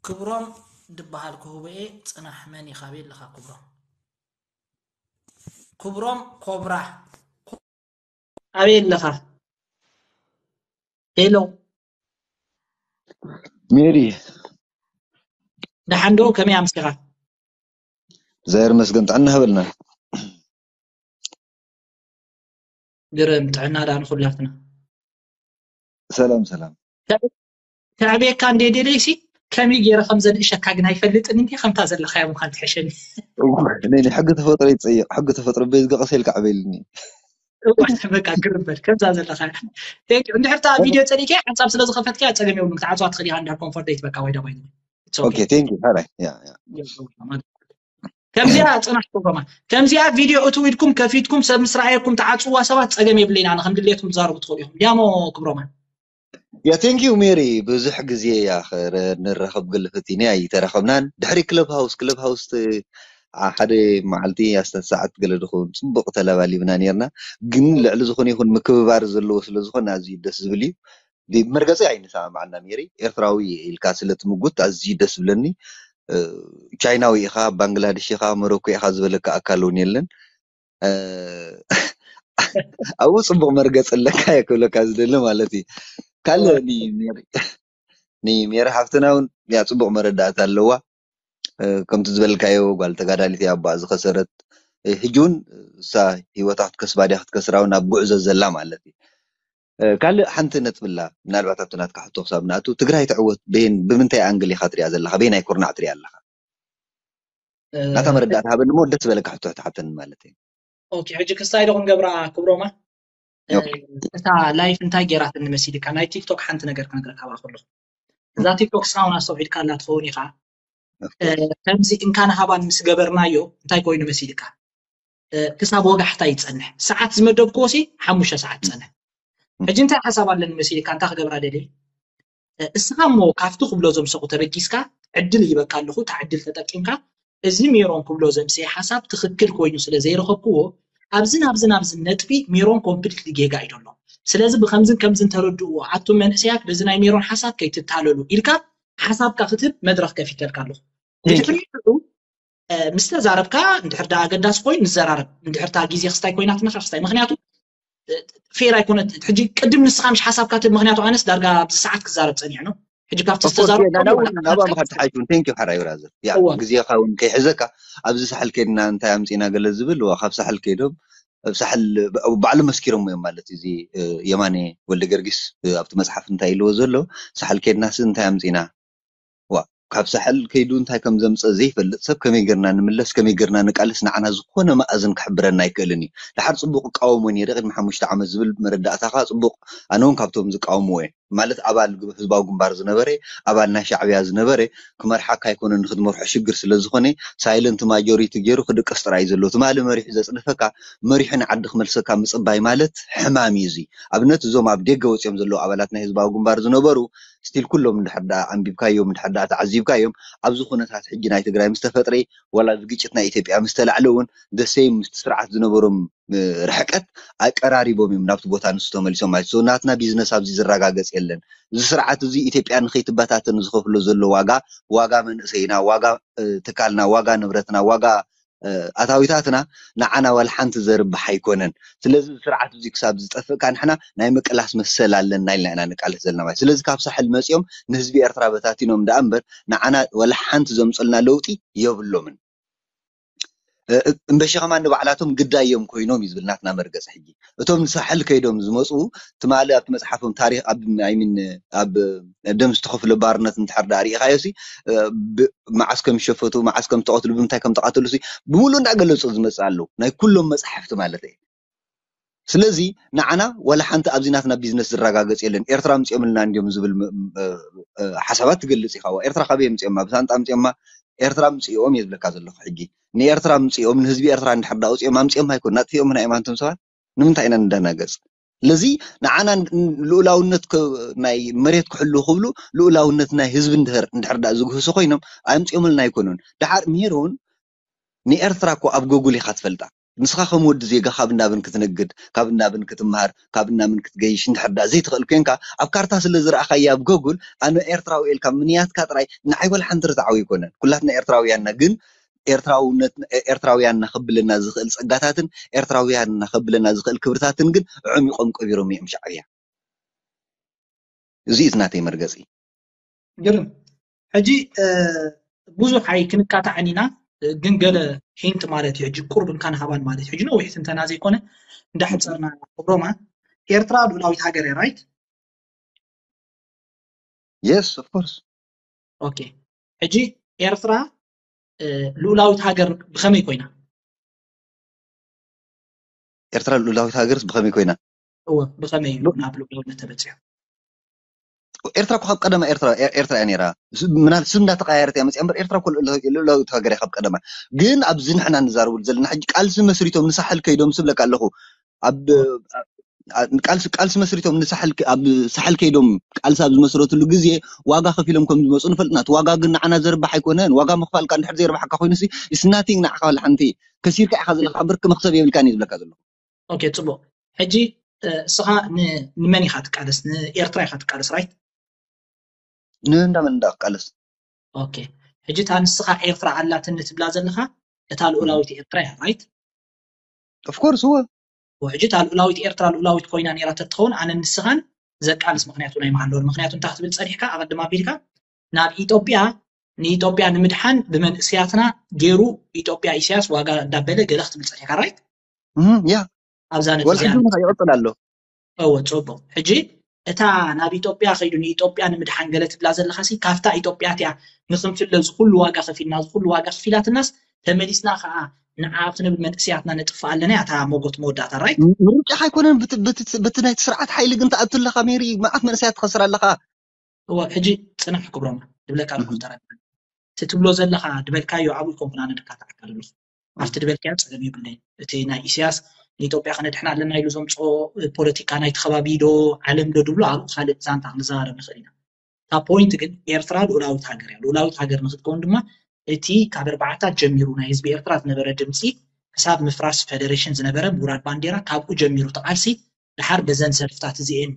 ክብሮም ድበሃል ክህቦ እየ። ጽናሕ፣ መን ኢኻ? ኣበይ ኣለኻ ክብሮም? ክብሮም ኮብራ፣ ኣበይ ኣለኻ? ሄሎ። ሜሪ፣ ደሓን ዶ? ከመይ ኣምሲኻ? እግዚኣብሔር ይመስገን፣ ጥዕና ሃበልና። ግርም ጥዕና ደኣ ንኹላትና። ሰላም ሰላም። ከዕብየካ እንደ ደለይሲ ከመይ ገይረ ከም ዘንእሸካ ግን ኣይፈልጥን እንዲ ከምታ ዘለኻያ ምዃን ትሕሸኒ። እወ፣ ናይ ናይ ሕጊ ተፈጥሮ ይጸይቕ። ሕጊ ተፈጥሮ በዝገ ቀስ ኢልካ ዕበይልኒ። እወ፣ በቃ ግርም በል ከምዛ ዘለኻ። Thank you። እንድሕር እታ ቪድዮ ጸሊእካ ሓንሳብ ስለ ዝኸፈትካ ጸገም የብሉን። ክትዓጽዋ ትኽእል ኢኻ እንድሕር ኮምፎርት ዘይትበካ ወይ ዳ ባይ። It's okay። ኦኬ፣ ቴንክ ዩ። ሓራይ። ያ፣ ያ። ከምዚኣ ጽናሕ ፕሮግራማ ከምዚኣ ቪድዮ እትው ኢልኩም ከፊትኩም ሰብ ምስ ረኣየኩም ትዓጽዋ ሰባት ጸገም የብለይን። ኣነ ከም ድሌትኩም ትዛረቡ ትኽእሉ ኢኹም። ዲያሞ ክብሮማ። ያ፣ ቴንክ ዩ ሜሪ። ብዙሕ ግዜ ያ ኸረ-፣ ንራኸብ ገለ ፈቲነ ኣይተራኸብናን። ድሕሪ ክለብ ሃውስ፣ ክለብ ሃውስ እ፣ ሓደ መዓልቲ ኣስታት ሰዓት ገለ ድኹን ጽቡቕ ተለባሊብና ኔርና። ግን ልዕሊ ዝኾነ ይኹን ምክብባር ዘለዎ ስለ ዝኾነ ኣዝዩ ደስ ዝብል እዩ። ብ-፣ መርገጺ ኣይንሰማማዕና ሜሪ። ኤርትራዊ ኢልካ ስለ ትምጉት ኣዝዩ ደስ ዝብለኒ። እ፣ ቻይናዊ ኢኻ፣ ባንግላዴሽ ኢኻ፣ ሞሮኮ ኢኻ ዝበለካ ኣካል እውን የለን። እ፣ ኣብኡ ጽቡቕ መርገጺ ኣለካ እየ ክብለካ ዝደሊ ማለት እዩ። ካልእ ኒ-፣ ሜሪ፣ ንሜሪ ሓፍትና እውን ያ ጽቡቕ መረዳእታ ኣለዋ። እ፣ ከምቲ ዝበልካዮ ጓል ተጋዳሊት እያ፣ ኣቦኣ ዝኸሰረት። እ፣ ሕጂ እውን እሳ ህይወታ ክትከስባ ድያ ክትከስራ እውን ኣብ ጉዕዞ ዘላ ማለት እዩ። እ፣ ካልእ ሓንቲ ነጥቢ ኣላ፣ ምናልባት ኣብቲ ናትካ ሕቶ ክሳብ ንኣቱ፣ ትግራይ ትዕወት በየን፣ ብምንታይ ኣንግል ኢኻ ትሪኣ ዘለኻ? በየናይ ኩርናዕ ትሪኣ ኣለኻ? እ፣ ናታ መረዳእታ ሃበኒ እሞ ደስ ዝበለካ ሕቶ ትሓተኒ ማለት እዩ። ኦኬ፣ ሕጂ ክስታይ ዶ ክንገብራ ክብሮማ? እ፣ ኦኬ። እታ ላይፍ እንታይ ገይራትኒ መሲልካ? ናይ ቲክቶክ ሓንቲ ነገር ክነግረካ ኣብኣ ከለኹ። እዛ ቲክቶክ እስኻ እውን ኣስተውዒልካላ ትኸውን ኢኻ። እ፣ ከምዚ እንካን ሃባን ምስ ገበርናዮ እንታይ ኮይኑ መሲልካ? እ፣ ክሳብ ወጋሕታ ይጸንሕ። ሰዓት ዝመደብክዎ ሲ ሓሙሽተ ሰዓት ይጸንሕ። ሕጂ እንታይ ሓሳብ ኣለኒ መሲልካ? እንታይ ክገብራ ደልየ? እ፣ እስኻ እሞ ካብቲ ክብሎ ዘምሰኹ ተበጊስካ ዕድል ይበካ ኣለኹ፣ እታ ዕድል ተጠቂምካ እዚ ሜሮን ክብሎ ዘምሰየ ሓሳብ ትኽክል ኮይኑ ስለ ዘይረኸብክዎ፣ ኣብዝን ኣብዝን ኣብዝን ነጥቢ ሜሮን ኮምፕሊትሊ ጌጋ እዩ ዘሎ። ስለዚ ብከምዝን ከምዝን ተረድእዎ፣ ኣቱም መንእሰያት በዚ ናይ ሜሮን ሓሳብ ከይትታለሉ ኢልካ ሓሳብካ ክትህብ መድረኽ ከፊተልካ ኣለኹ። ብድሕሪኡ እ፣ ምስ ተዛረብካ እንድሕር ደኣ ኣገዳሲ ኮይኑ ንዘራረብ፣ እንድሕር እታ ግዜ ክስታይ ኮይናትና ከ ክስታይ። ምኽንያቱ እ፣ ፌር ኣይኮነት። ሕጂ ቅድም ንስኻ ምሽ ሓሳብካ ትብ፣ ምኽንያቱ ኣነስ ዳርጋ ኣብዚ ሰዓት ክዛረብ ጸኒሕ ነው። ሕጂ ካብቲ ኦፍኮርስ፣ ዝተዛረብካ ናብኡ ወላ ናብኣ ሓሳብ ምኻድ ትሓይሽ እውን። ቴንክ ዩ ሓራይ ብራዘር። ያ፣ እዋ። ግዜኻ እውን ከይሕዘካ ኣብዚ ሳሕል ከይድና እንታይ ኣምጺና ገለ ዝብል፣ እዋ፣ ካብ ሳሕል ከይዶም ኣብ ሳሕል ብ-፣ ባዕሉ መስኪሮም እዮም ማለት እዩ። እዚ እ፣ የማነ ወልደ ገርጊስ እ፣ ኣብቲ መጽሓፍ እንታይ ኢልዎ ዘሎ፣ ሳሕል ከይድናስ እንታይ ኣምጺና? ዋ፣ ካብ ሳሕል ከይዱ እንታይ ከም ዘምጸ ዘይፈልጥ ሰብ ከመይ ጌርና ንምለስ፣ ከመይ ጌርና ንቃለስ ንዓና ዝኾነ መኣዝን ክሕብረና ኣይክእልን እዩ። ደሓር ጽቡቕ እቃወሞ ነይረ ቅድሚ ሓሙሽተ ዓመት ዝብል መረዳእታኻ ጽቡቕ። ኣነ እውን ካብቶም ዝቃወምዎ እየ። ማለት ኣባል ግ-፣ ህዝባዊ ግንባር ዝነበረ፣ ኣባል ናይ ሻዕብያ ዝነበረ፣ ክመርሓካ ኣይኮነን፣ ንክትመርሖ ሽግር ስለ ዝኾነ ሳይለንት ማጆሪቲ ገይሩ ክድቅስ ጥራይ እዩ ዘሎ። ትማሊ መሪሑ ዘጽድፈካ፣ መሪሑ ንዓዲ ክመልሰካ ምጽባይ ማለት ሕማም እዩ። እዚ ኣብነት እዞም ኣብ ደገ ወጺኦም ዘለዉ ኣባላት ናይ ህዝባዊ ግንባር ዝነበሩ ስቲል ኩሎም እንድሕር ደኣ ኣንቢብካዮም፣ እንድሕር ደኣ ተዓዚብካዮም፣ ኣብዚ ኩነታት ሕጂ ናይ ትግራይ ምስ ተፈጥረ፣ ዋላ እዚ ግጭት ናይ ኢትዮጵያ ምስ ተላዕለ እውን ደሰይ ምስቲ ስርዓት ዝነበሮም እ፣ ርሕቀት ኣቀራሪቦም እዮም ናብቲ ቦታ ንሱ ተመሊሶም ማለት እዩ። So ናትና ቢዝነስ ኣብዚ ዝረጋገጽ የለን። እዚ ስርዓት እዚ ኢትዮጵያ ንኸይትበታተን ዝኸፍሎ ዘሎ ዋጋ፣ ዋጋ መንእሰይና፣ ዋጋ እ፣ ትካልና፣ ዋጋ ንብረትና፣ ዋጋ እ፣ ኣታዊታትና ንዓና ዋላ ሓንቲ ዘርብሕ ኣይኮነን። ስለዚ እዚ ስርዓት እዚ ክሳብ ዝጠፍእ ከኣ ንሕና ናይ ምቅላስ መሰል ኣለና ኢልና ኢና ንቃለስ ዘለና ማለት እዩ። ስለዚ ካብ ሳሕል መጺኦም ንህዝቢ ኤርትራ በታቲኖም ደኣ እምበር ንዓና ዋላ ሓንቲ ዘምጹልና ለውጢ የብሎምን። እ፣ እምበሺ ከማን ንባዕላቶም ግዳዮም ኮይኖም እዩ ዝብል ናትና መርገጽ ሕጂ። እቶም ንሳሕል ከይዶም ዝመጹ ትማሊ ኣብቲ መጽሓፎም ታሪኽ ኣብ፣ I mean፣ ኣብ ደም ዝተኸፍለ ባርነት እንድሕር ደኣ ርኢኻዮ ሲ፣ እ፣ ብ-፣ መዓስ ከም ዝሸፈቱ፣ መዓስ ከም ዝተቐትሉ፣ ብምንታይ ከም ተቐተሉ ሲ ብምሉእ እንዳገለጹ ዝመጽእ ኣለዉ። ናይ ኩሎም መጽሓፍቲ ማለት እየ። ስለዚ ንዓና ዋላ ሓንቲ ኣብዚ ናትና ቢዝነስ ዝረጋገጽ የለን። ኤርትራ ኣምጺኦምልና እንድዮም ዝብል ም-፣ እ፣ እ፣ ሓሳባት ትገልጽ ኢኻ። ዋ፣ ኤርትራ ካበይ ኣምጺኦማ? ብሳንጣ ኣምጺኦማ? ኤርትራ ኣምጺኦም እየ ዝብለካ ዘለኹ ሕጂ። ንኤርትራ ኣምጺኦም፣ ንህዝቢ ኤርትራ እንድሕር ደኣ ኣውጺኦም ኣምጺኦም ኣይኮኑን፣ ኣጥፊኦምና እዮም። ኣንቱም ሰባት ንምንታይ ኢና ንደናገጽ? ስለዚ ንዓና ን-፣ ልኡላውነት ከ-፣ ናይ መሬት ክሕልዉ ክብሉ ልኡላውነት ናይ ህዝቢ እንድሕር፣ እንድሕር ደኣ ዝግህሱ ኮይኖም ኣምጺኦምልና ኣይኮኑን። ደሓር ሜሮን ንኤርትራ እኮ ኣብ ጎጉል ኢኻ ትፈልጣ። ንስኻ ከም ወዲ ዜጋ ካብ እናብን ክትነግድ፣ ካብ እናብን ክትምሃር፣ ካብ እናምን ክትገይሽ እንድሕር ዳ ዘይትኽእል ኮንካ፣ ኣብ ካርታ ስለ ዝረኣኻያ ኣብ ጎጉል ኣነ ኤርትራዊ ኢልካ ምንያትካ ጥራይ ንዓይ ወላ ሓንቲ ርትዓዊ ኣይኮነን። ኩላትና ኤርትራውያንና ግን ኤርትራውነት ኤርትራውያንና ከብለና ዝኽእል ጸጋታትን ኤርትራውያንና ከብለና ዝኽእል ክብርታትን ግን ኣዕሚቖም ቀቢሮም እዮም ሻዕብያ። እዚ እዩ ናተይ መርገጺ። ግርም። ሕጂ ብዙሕ ኣይ ክንካታዕን ኢና፣ ግን ገለ ሂንት ማለት እዩ። ሕጂ ቁርብ እንካን ሃባን ማለት እዩ። ሕጂ ነዊሕ ትንተና ዘይኮነ እንዳሕፀርና ክብሮማ፣ ኤርትራ ልኡላዊት ሃገር እያ፣ ራይት? Yes, of course. ኦኬ። ሕጂ ኤርትራ ልኡላዊት ሃገር ብኸመይ ኮይና? ኤርትራ ልኡላዊት ሃገርስ ብኸመይ ኮይና? እወ፣ ብኸመይ እዩ ናብ ልኡላውነት ተበፂሑ? ኤርትራ እኮ ካብ ቀደማ ኤርትራ ኤርትራ እያ ነይራ። ምናል ስም እንዳተቀያየረት እያ መፅያ እምበር ኤርትራ እኮ ልኡላዊት ሃገር እያ ካብ ቀደማ። ግን ኣብዚ ንሕና ንዛረበሉ ዘለና ሕጂ ቃልሲ መስሪቶም ንሳሕል ከይዶም ስብለካ ኣለኹ። ኣብ ቃልሲ ቃልሲ መስሪቶም ንሳሕል ኣብ ሳሕል ከይዶም ቃልሲ ኣብ ዝመስረትሉ ግዜ ዋጋ ከፊሎም ከም ዝመፁ ንፈልጥ ኢና። እቲ ዋጋ ግን ንዓና ዘርባሕ ኣይኮነን። ዋጋ ምኽፋልካ እንድሕር ዘይርባሓካ ኮይኑ ሲ it's nothing ንዓኻ ወላ ሓንቲ። ከሲርካ ኢኻ ዘለኻ እምበር መኽሰብ የብልካን እዩ ዝብለካ ዘለኹ። ኦኬ፣ ፅቡቅ። ሕጂ እስኻ ንመን ኢኻ ትቃለስ? ንኤርትራ ኢኻ ትቃለስ፣ ራይት? ንእንዳ መን እንዳ ክቃለስ? ኦኬ። ሕጂ እታ ንስኻ ኤርትራ ኣላትኒ ትብላ ዘለኻ እታ ልኡላዊት ኤርትራ እያ፣ ራይት? Of course እወ። ሕጂ እታ ልኡላዊት ኤርትራ ልኡላዊት ኮይና ነይራ ተትኸውን ኣነ ንስኻን ዘቃልስ ምኽንያት እውን ኣይምሃለወን። ምኽንያቱ እንታይ ክትብል ጸኒሕካ? ኣቐድም ኣቢልካ ናብ ኢትዮጵያ ንኢትዮጵያ ንምድሓን ብመንእስያትና ገይሩ ኢትዮጵያ ኢሳያስ ዋጋ እንዳበለ ገለ ክትብል ጸኒሕካ፣ ራይት? ያ ኣብዛ ነጥቢ ወላ ሕጂ እውን ይቕፅል ኣሎ። እወ፣ ጽቡቕ። ሕጂ እታ ናብ ኢትዮጵያ ከይዱ ንኢትዮጵያ ንምድሓን ገለ ትብላ ዘለኻ ሲ ካብታ ኢትዮጵያ እቲያ ንክንፍለ ዝኩሉ ዋጋ ከፊልና ዝኩሉ ዋጋ ከፊላትናስ ተመሊስና ከዓ ንዓ ኣብቲ ነብል መንእስያትና ነጥፍእ ኣለና እያ እታ ሞጎት መወዳእታ፣ ራይት? ምርጫ ኣይኮነን። በቲ ናይቲ ስርዓት ሓይሊ ግን ትኣቱ ኣለኻ ሜሪ፣ መዓት መንእሰያት ትኸስር ኣለኻ። እወ፣ ሕጂ ጽናሕ ክብሮማ ድብለካ ኣለኹ። ተረ እቲ ትብሎ ዘለኻ ድበልካዮ ኣብኡ ይኮንኩን ኣነ ድካታዕካ ዘለኹ ኣብቲ ድበልካዮ ጸገም የብለይ። እቲ ናይ ኢሳያስ ንኢትዮጵያ ከነድሕና ኣለና ኢሉ ዘምፅኦ ፖለቲካ ናይቲ ከባቢ ዶ ዓለም ዶ ድብሎ ኣብኡ ካልእ ዛንታ ክንዘራረብ ንኽእል ኢና። እታ ፖይንት ግን ኤርትራ ልኡላዊት ሃገር እያ። ልኡላዊት ሃገር ንክትከውን ድማ እቲ ካብ ኣርባዓታት ጀሚሩ ናይ ህዝቢ ኤርትራ ዝነበረ ድምፂ ክሳብ ምፍራስ ፈደሬሽን ዝነበረ ምውራድ ባንዴራ ካብኡ ጀሚሩ ተቃልሲ ድሓር በዘን ሰልፍታት እዚኤን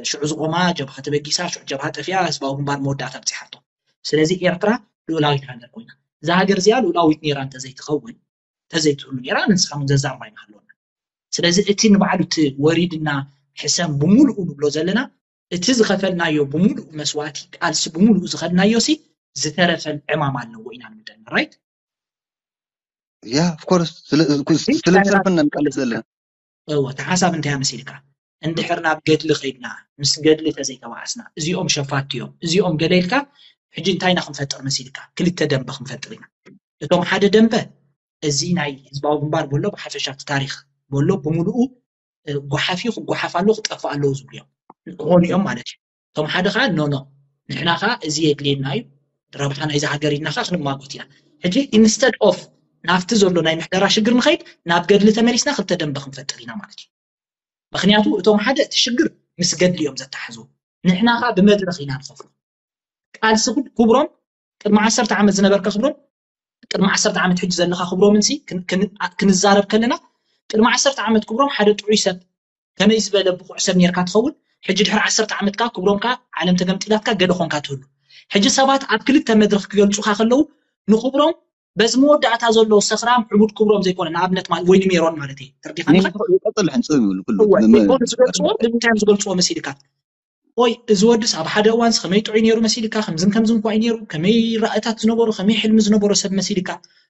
ሽዑ ዝቆማ ጀብሃ ተበጊሳ ሽዑ ጀብሃ ጠፊኣ ህዝባዊ ግንባር መወዳእታ ኣብፂሓቶ። ስለዚ ኤርትራ ልኡላዊት ሃገር ኮይና እዛ ሃገር እዚኣ ልኡላዊት ነይራ እንተዘይትኸውን እንተዘይትህሉ ነይራ ንስኻ እውን ዘዛርባ ኣይምሃለወና። ስለዚ እቲ ንባዕሉ እቲ ወሪድና ሕሰም ብምሉኡ ንብሎ ዘለና እቲ ዝኸፈልናዮ ብምሉኡ መስዋእቲ ቃልሲ ብምሉኡ ዝኸድናዮ ሲ ዝተረፈን ዕማም ኣለዎ ኢና ንምደና፣ ራይት? ያ of course ስለ ስለ ዝሰርፈና ንቃለስ ዘለና። እወ፣ እቲ ሓሳብ እንታይ መሲልካ? እንድሕር ናብ ገድሊ ከይድና ምስ ገድሊ ተዘይተባኣስና እዚኦም ሸፋቲ እዮም እዚኦም ገለ ኢልካ ሕጂ እንታይ ኢና ክንፈጥር መሲልካ? ክልተ ደንበ ክንፈጥር ኢና። እቶም ሓደ ደንበ እዚ ናይ ህዝባዊ ግንባር በሎ ብሓፈሻ እቲ ታሪኽ በሎ ብምሉኡ ጓሓፍ እዩ ክጓሓፍ ኣለዎ ክጠፍእ ኣለዎ ዝብሉ እዮም። ክኾኑ እዮም ማለት እዩ። እቶም ሓደ ከዓ no no ንሕና ከዓ እዚ የድልየና እዩ ረብሓ ናይዚ ሃገር ኢልና ከዓ ክንማጎት ኢና። ሕጂ instead of ናብቲ ዘሎ ናይ ምሕደራ ሽግር ንኸይድ ናብ ገድሊ ተመሊስና ክልተ ደንበ ክንፈጥር ኢና ማለት እዩ። ምክንያቱ እቶም ሓደ እቲ ሽግር ምስ ገድሊ እዮም ዘተሓሕዝዎ ንሕና ከዓ ብመድረኽ ኢና ንኸፍሎ። ቃልሲ ክብሮም ቅድሚ ዓሰርተ ዓመት ዝነበርካ ክብሮም ቅድሚ ዓሰርተ ዓመት ሕጂ ዘለኻ ክብሮምን ሲ ክንዛረብ ከለና ቅድሚ ዓሰርተ ዓመት ክብሮም ሓደ ጥዑይ ሰብ ከመይ ዝበለ ብቑዕ ሰብ ኔርካ ትኸውን ሕጂ ድሕሪ ዓሰርተ ዓመት ከዓ ክብሮም ከዓ ዓለም ተገምጢላትካ ገለ ኾንካ ትህሉ። ሕጂ ሰባት ኣብ ክልተ መድረኽ ክገልፁኻ ከለዉ ንክብሮም በዚ መወዳእታ ዘሎ ሰኽራም ዕቡድ ክብሮም ዘይኮነ ንኣብነት ማለት ወይ ንሜሮን ማለት እዩ ተርዲኻ ይቀጥል ሕንፅም ይብሉ ኩሉ ዝገልፅዎ ብምንታይ እዮም ዝገልፅዎ መሲልካ ወይ እዚ ወድስ ኣብ ሓደ እዋንስ ከመይ ጥዑይ ነይሩ መሲልካ ከምዝን ከምዝን ኳይ ነይሩ ከመይ ራእታት ዝነበሩ ከመይ ሕልሚ ዝነበሩ ሰብ መሲልካ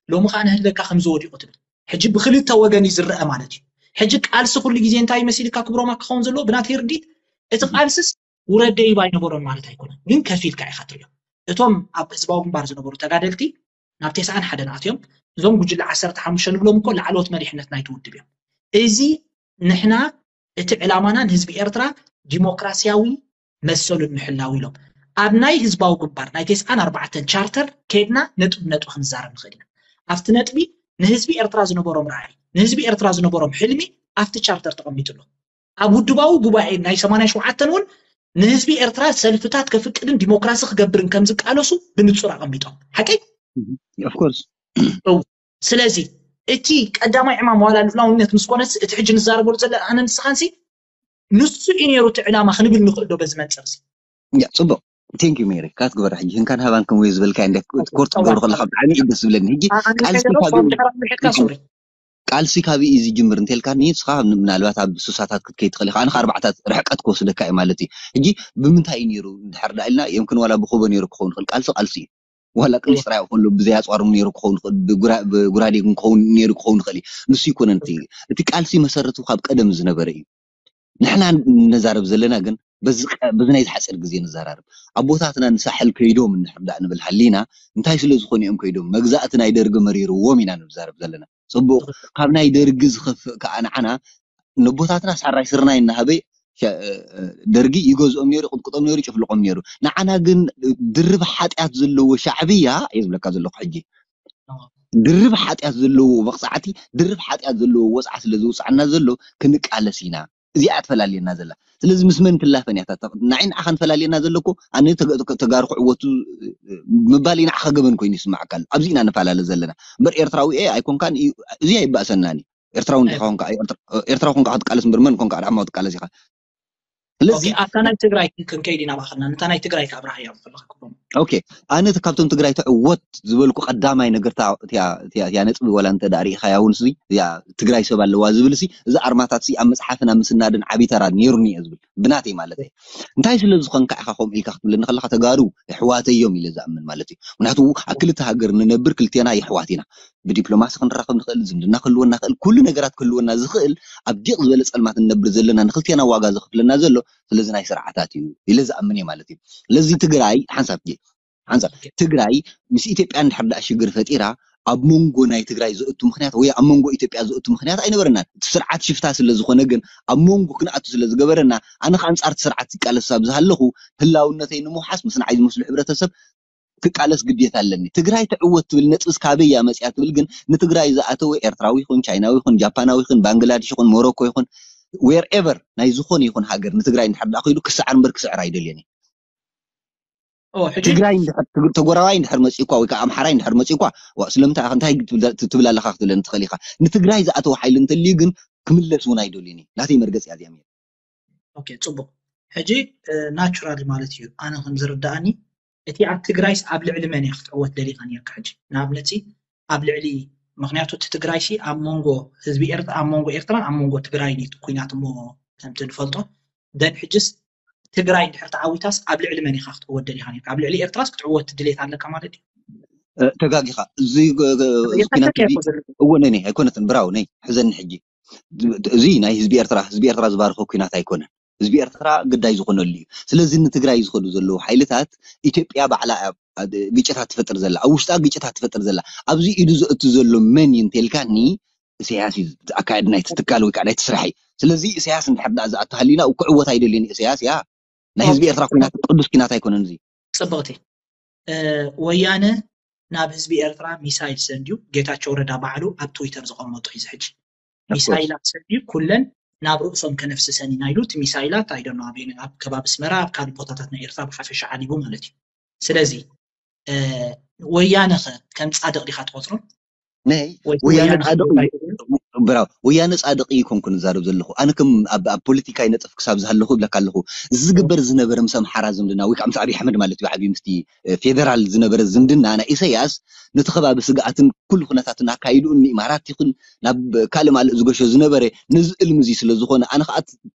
ሎሚ ከዓ ንህለካ ከምዝወዲቁ ትብል ሕጂ ብክልተ ወገን እዩ ዝረአ ማለት እዩ ሕጂ ቃልሲ ኩሉ ግዜ እንታይ መሲልካ ክብሮማ ክኸውን ዘለዎ ብናተይ ርዲት እቲ ቃልስስ ውረደ ይባ ኣይነበሮን ማለት ኣይኮነን ግን ከፊልካ ኢካ ትሪኦ እቶም ኣብ ህዝባዊ ግንባር ዝነበሩ ተጋደልቲ ናብ ቴስዓን ሓደን ኣትዮም እዞም ጉጅለ ዓሰርተ ሓሙሽተ ንብሎም እኮ ላዕለዎት መሪሕነት ናይቲ ውድብ እዮም እዚ ንሕና እቲ ዕላማና ንህዝቢ ኤርትራ ዲሞክራሲያዊ መሰሉን ምሕላው ኢሎም ኣብ ናይ ህዝባዊ ግንባር ናይ ቴስዓን ኣርባዕተን ቻርተር ከይድና ነጥቢ ነጥቢ ክንዛረብ ንኽእል ኢና ኣብቲ ነጥቢ ንህዝቢ ኤርትራ ዝነበሮም ራዕይ ንህዝቢ ኤርትራ ዝነበሮም ሕልሚ ኣብቲ ቻርተር ተቐሚጡ ኣሎ ኣብ ውድባዊ ጉባኤ ናይ ሰማንያ ሸውዓተን እውን ንህዝቢ ኤርትራ ሰልፍታት ከፍቅድን ዲሞክራሲ ክገብርን ከም ዝቃለሱ ብንጹር ኣቐሚጦም ሓቀይ of course ስለዚ እቲ ቀዳማይ ዕማም ዋላ ልዑላውነት ምስ ኮነስ እቲ ሕጂ ንዛረበሉ ዘለና ኣነ ንስኻንሲ ንሱ እዩ ነይሩ እቲ ዕላማ ክንብል ንኽእል ዶ በዚ መንፅር ሲ? ያ ጽቡቕ። Thank you ሜሪ ካትግበራ ሕጂ ህንካን ሃባን ከም ወይ ዝበልካ እንደ ኮርት ትገብሩ ከለካ ብጣዕሚ እዩ ደስ ዝብለኒ። ሕጂ ቃልሲ ካብ ቃልሲ ካብ እዩ ዝጅምር እንተልካኒ ንስኻ ምናልባት ኣብ ሱሳታት ክትከይ ትኽእል ኢኻ። ኣነ ኣርባዕታት ርሕቀት ክወስደካ እዩ ማለት እዩ። ሕጂ ብምንታይ እዩ ነይሩ እንድሕር ዳ ኢልና የምክን ዋላ ብኮቦ ነይሩ ክኸውን ይኽእል። ቃልሲ ቃልሲ እዩ። ዋላ ቅልስ ጥራይ ከሎ ብዘይ ኣፅዋር ነይሩ ክኸውን ይኽእል፣ ብጉራዴ ክኸውን ነይሩ ክኸውን ይኽእል እዩ። ንሱ ይኮነን እቲ ቃልሲ መሰረቱ ካብ ቀደም ዝነበረ እዩ። ንሕና ነዛረብ ዘለና ግን በዚ ናይ ዝሓፀር ግዜ ንዘራርብ። ኣቦታትና ንሳሕል ከይዶም እንድሕር ዳኣ ንብል ሃሊና እንታይ ስለ ዝኾኑ እዮም ከይዶም? መግዛእቲ ናይ ደርጊ መሪርዎም ኢና ንዛረብ ዘለና። ፅቡቕ ካብ ናይ ደርጊ ዝኸፍእ ከዓ ንዓና ነቦታትና ሳራይ ስርናይ እናሃበ ደርጊ ይገዝኦም ነይሩ፣ ይቕጥቅጦም ነይሩ፣ ይጭፍልቖም ነይሩ። ንዓና ግን ድርብ ሓጢኣት ዘለዎ ሻዕብያ እየ ዝብለካ ዘለኹ ሕጂ። ድርብ ሓጢኣት ዘለዎ መቕፃዕቲ፣ ድርብ ሓጢኣት ዘለዎ ወፅዓ ስለ ዝውፅዓና ዘሎ ክንቃለስ ኢና። እዚኣ ትፈላልየና ዘላ። ስለዚ ምስ መን ትላፈን እያ? ንዓይ ንዓኻን ፈላልየና ዘሎ እኮ ኣነ ተጋሩ ክዕወቱ ምባል ንዓኻ ገበን ኮይኑ ይስማዓካ ኣሎ። ኣብዚ ኢና ንፈላለ ዘለና እምበር ኤርትራዊ እየ ኣይኮንካን እዚኣ ይባእሰናን እዩ። ኤርትራዊ እንዲኻ ኮንካ ኤርትራዊ ኮንካ ክትቃለስ እምበር መን ኮንካ ኣድሓማዊ ትቃለስ ኢኻ። ስለዚ ኣብታ ናይ ትግራይ ክንከይድ ኢና ባኸልና ነታ ናይ ትግራይ ከኣብርሃያ ከለካ ክቦም ኦኬ ኣነ ካብቶም ትግራይ ተዕወት ዝበልኩ ቀዳማይ ነገር እቲያ ነጥቢ ዋላ እንተ ዳኣ ርኢኻያ እውን እዚኣ ትግራይ ሰብ ኣለዋ ዝብል ሲ እዚ ኣርማታት ሲ ኣብ መፅሓፍን ኣብ ምስናድን ዓብዪ ተራ ነይሩኒ እየ ዝብል ብናተይ ማለት እዩ። እንታይ ስለ ዝኾንካ ኢኻ ከምኡ ኢልካ ክትብለኒ ከለኻ ተጋሩ የሕዋተይ እዮም ኢለ ዝኣምን ማለት እዩ። ምክንያቱ ኣብ ክልተ ሃገር ንነብር ክልቴና የሕዋት ኢና። ብዲፕሎማሲ ክንራኸብ ንኽእል፣ ዝምድና ክህልወና ይኽእል፣ ኩሉ ነገራት ክህልወና ዝኽእል ኣብ ዲቕ ዝበለ ፀልማት ንነብር ዘለና ንክልቴና ዋጋ ዘኽፍለና ዘሎ ስለዚ ናይ ስርዓታት እዩ ኢለ ዝኣምን እየ ማለት እዩ። ስለዚ ትግራይ ሓንሳብ ሓንሳብ ትግራይ ምስ ኢትዮጵያ እንድሕር ደኣ ሽግር ፈጢራ ኣብ መንጎ ናይ ትግራይ ዘእቱ ምክንያት ወይ ኣብ መንጎ ኢትዮጵያ ዘእቱ ምክንያት ኣይነበረናን። እቲ ስርዓት ሽፍታ ስለ ዝኾነ ግን ኣብ መንጎ ክንኣቱ ስለ ዝገበረና ኣነ ከኣ ኣንጻር እቲ ስርዓት ይቃለስ ኣብ ዝሃለኹ ህላውነተይ ንምውሓስ ምስ ንዓይ ዝመስሉ ሕብረተሰብ ክቃለስ ግዴታ ኣለኒ። ትግራይ ትዕወት ትብል ነጥብስ ካበይ እያ መፅያ ትብል ግን ንትግራይ ዝኣተወ ኤርትራዊ ይኹን ቻይናዊ ይኹን ጃፓናዊ ይኹን ባንግላድሽ ይኹን ሞሮኮ ይኹን wherever ናይ ዝኾነ ይኹን ሃገር ንትግራይ እንድሕር ደኣ ከይዱ ክስዓር እምበር ክስዕር ኣይደልየን እዩ። ትግራይ ተጎራባይ እንድሕር መፂእኳ ወይ ከዓ ኣምሓራይ እንድሕር መፂእኳ ስለምንታይ እንታይ ትብል ኣለካ ክትብለኒ ትኽእል ኢኻ። ንትግራይ ዝኣተወ ሓይሊ እንተልዩ ግን ክምለስ እውን ኣይደልዩን እዩ። ናተይ መርገፂ እያ እዚኣ። ኦኬ ፅቡቕ። ሕጂ ናቹራሊ ማለት እዩ ኣነ ከም ዝርዳእኒ እቲ ኣብ ትግራይስ ኣብ ልዕሊ መን እያ ክትዕወት ደሊኻ ነርካ? ሕጂ ንኣብነት ኣብ ልዕሊ ምክንያቱ እቲ ትግራይሲ ኣብ መንጎ ህዝቢ ኤርትራ ኣብ መንጎ ኤርትራን ኣብ መንጎ ትግራይን እዩ እቲ ኩናት እሞ ከምቲ ንፈልጦ ደን ሕጅስ ትግራይ እንድሕር ተዓዊታስ ኣብ ልዕሊ መን ኢኻ ክትዕወት ደሊኻ ነርካ? ኣብ ልዕሊ ኤርትራስ ክትዕወት ድሌት ኣለካ ማለት እዩ? ተጋጊኻ እዚ ኩናት እወ ነይ ኣይኮነትን ብራው ነይ ሕዘኒ ሕጂ እዚ ናይ ህዝቢ ኤርትራ ህዝቢ ኤርትራ ዝባርኮ ኩናት ኣይኮነን። ህዝቢ ኤርትራ ግዳይ ዝኾነሉ እዩ። ስለዚ ንትግራይ ዝኸዱ ዘለዉ ሓይልታት ኢትዮጵያ ባዕላ ግጭታት ትፈጥር ዘላ ኣብ ውሽጣ ግጭታት ትፈጥር ዘላ ኣብዚ ኢዱ ዘእቱ ዘሎ መን እዩ እንተልካኒ ኢሳያስ እዩ ኣካየዲ ናይቲ ትካል ወይ ከዓ ናይቲ ስራሕ እዩ። ስለዚ ኢሳያስ እንድሕር ደኣ ዝኣቱ ሃሊና ክዕወት ኣይደልዮን ኢሳያስ እያ ናይ ህዝቢ ኤርትራ ኩናት ቅዱስ ኩናት ኣይኮነን እዚ። ፅብቕቲ ወያነ ናብ ህዝቢ ኤርትራ ሚሳይል ሰድዩ ጌታቸው ረዳ ባዕሉ ኣብ ትዊተር ዘቐመጦ እዩ ሕጂ ሚሳይላት ሰድዩ ኩለን ናብ ርእሶም ከነፍስሰን ኢና ኢሉ እቲ ሚሳይላት ኣይደኖ ኣብ ከባቢ ኣስመራ ኣብ ካልእ ቦታታት ናይ ኤርትራ ብሓፈሻ ዓሊቡ ማለት እዩ። ስለዚ ወያነ ኸ ከም ፃድቕ ዲኻ ትቆፅሮ? ናይ ወያነ ፃድቕ ብራው ወያነ ፃድቕ ይኮንኩ ንዛረብ ዘለኹ ኣነ ከም ኣብ ፖለቲካይ ነጥፍ ክሳብ ዝሃለኹ እብለካ ኣለኹ ዝግበር ዝነበረ ምስ ኣምሓራ ዝምድና ወይ ከዓ ምስ ኣብይ ኣሕመድ ማለት እዩ ዓብዩ ምስቲ ፌደራል ዝነበረ ዝምድና ናይ ኢሳያስ ነቲ ከባቢ ስግኣትን ኩሉ ኩነታትን ኣካይድኡ ንኢማራት ይኹን ናብ ካልእ ማልእ ዝገሾ ዝነበረ ነዚ እልሚ እዚ ስለ ዝኾነ ኣነ ከዓ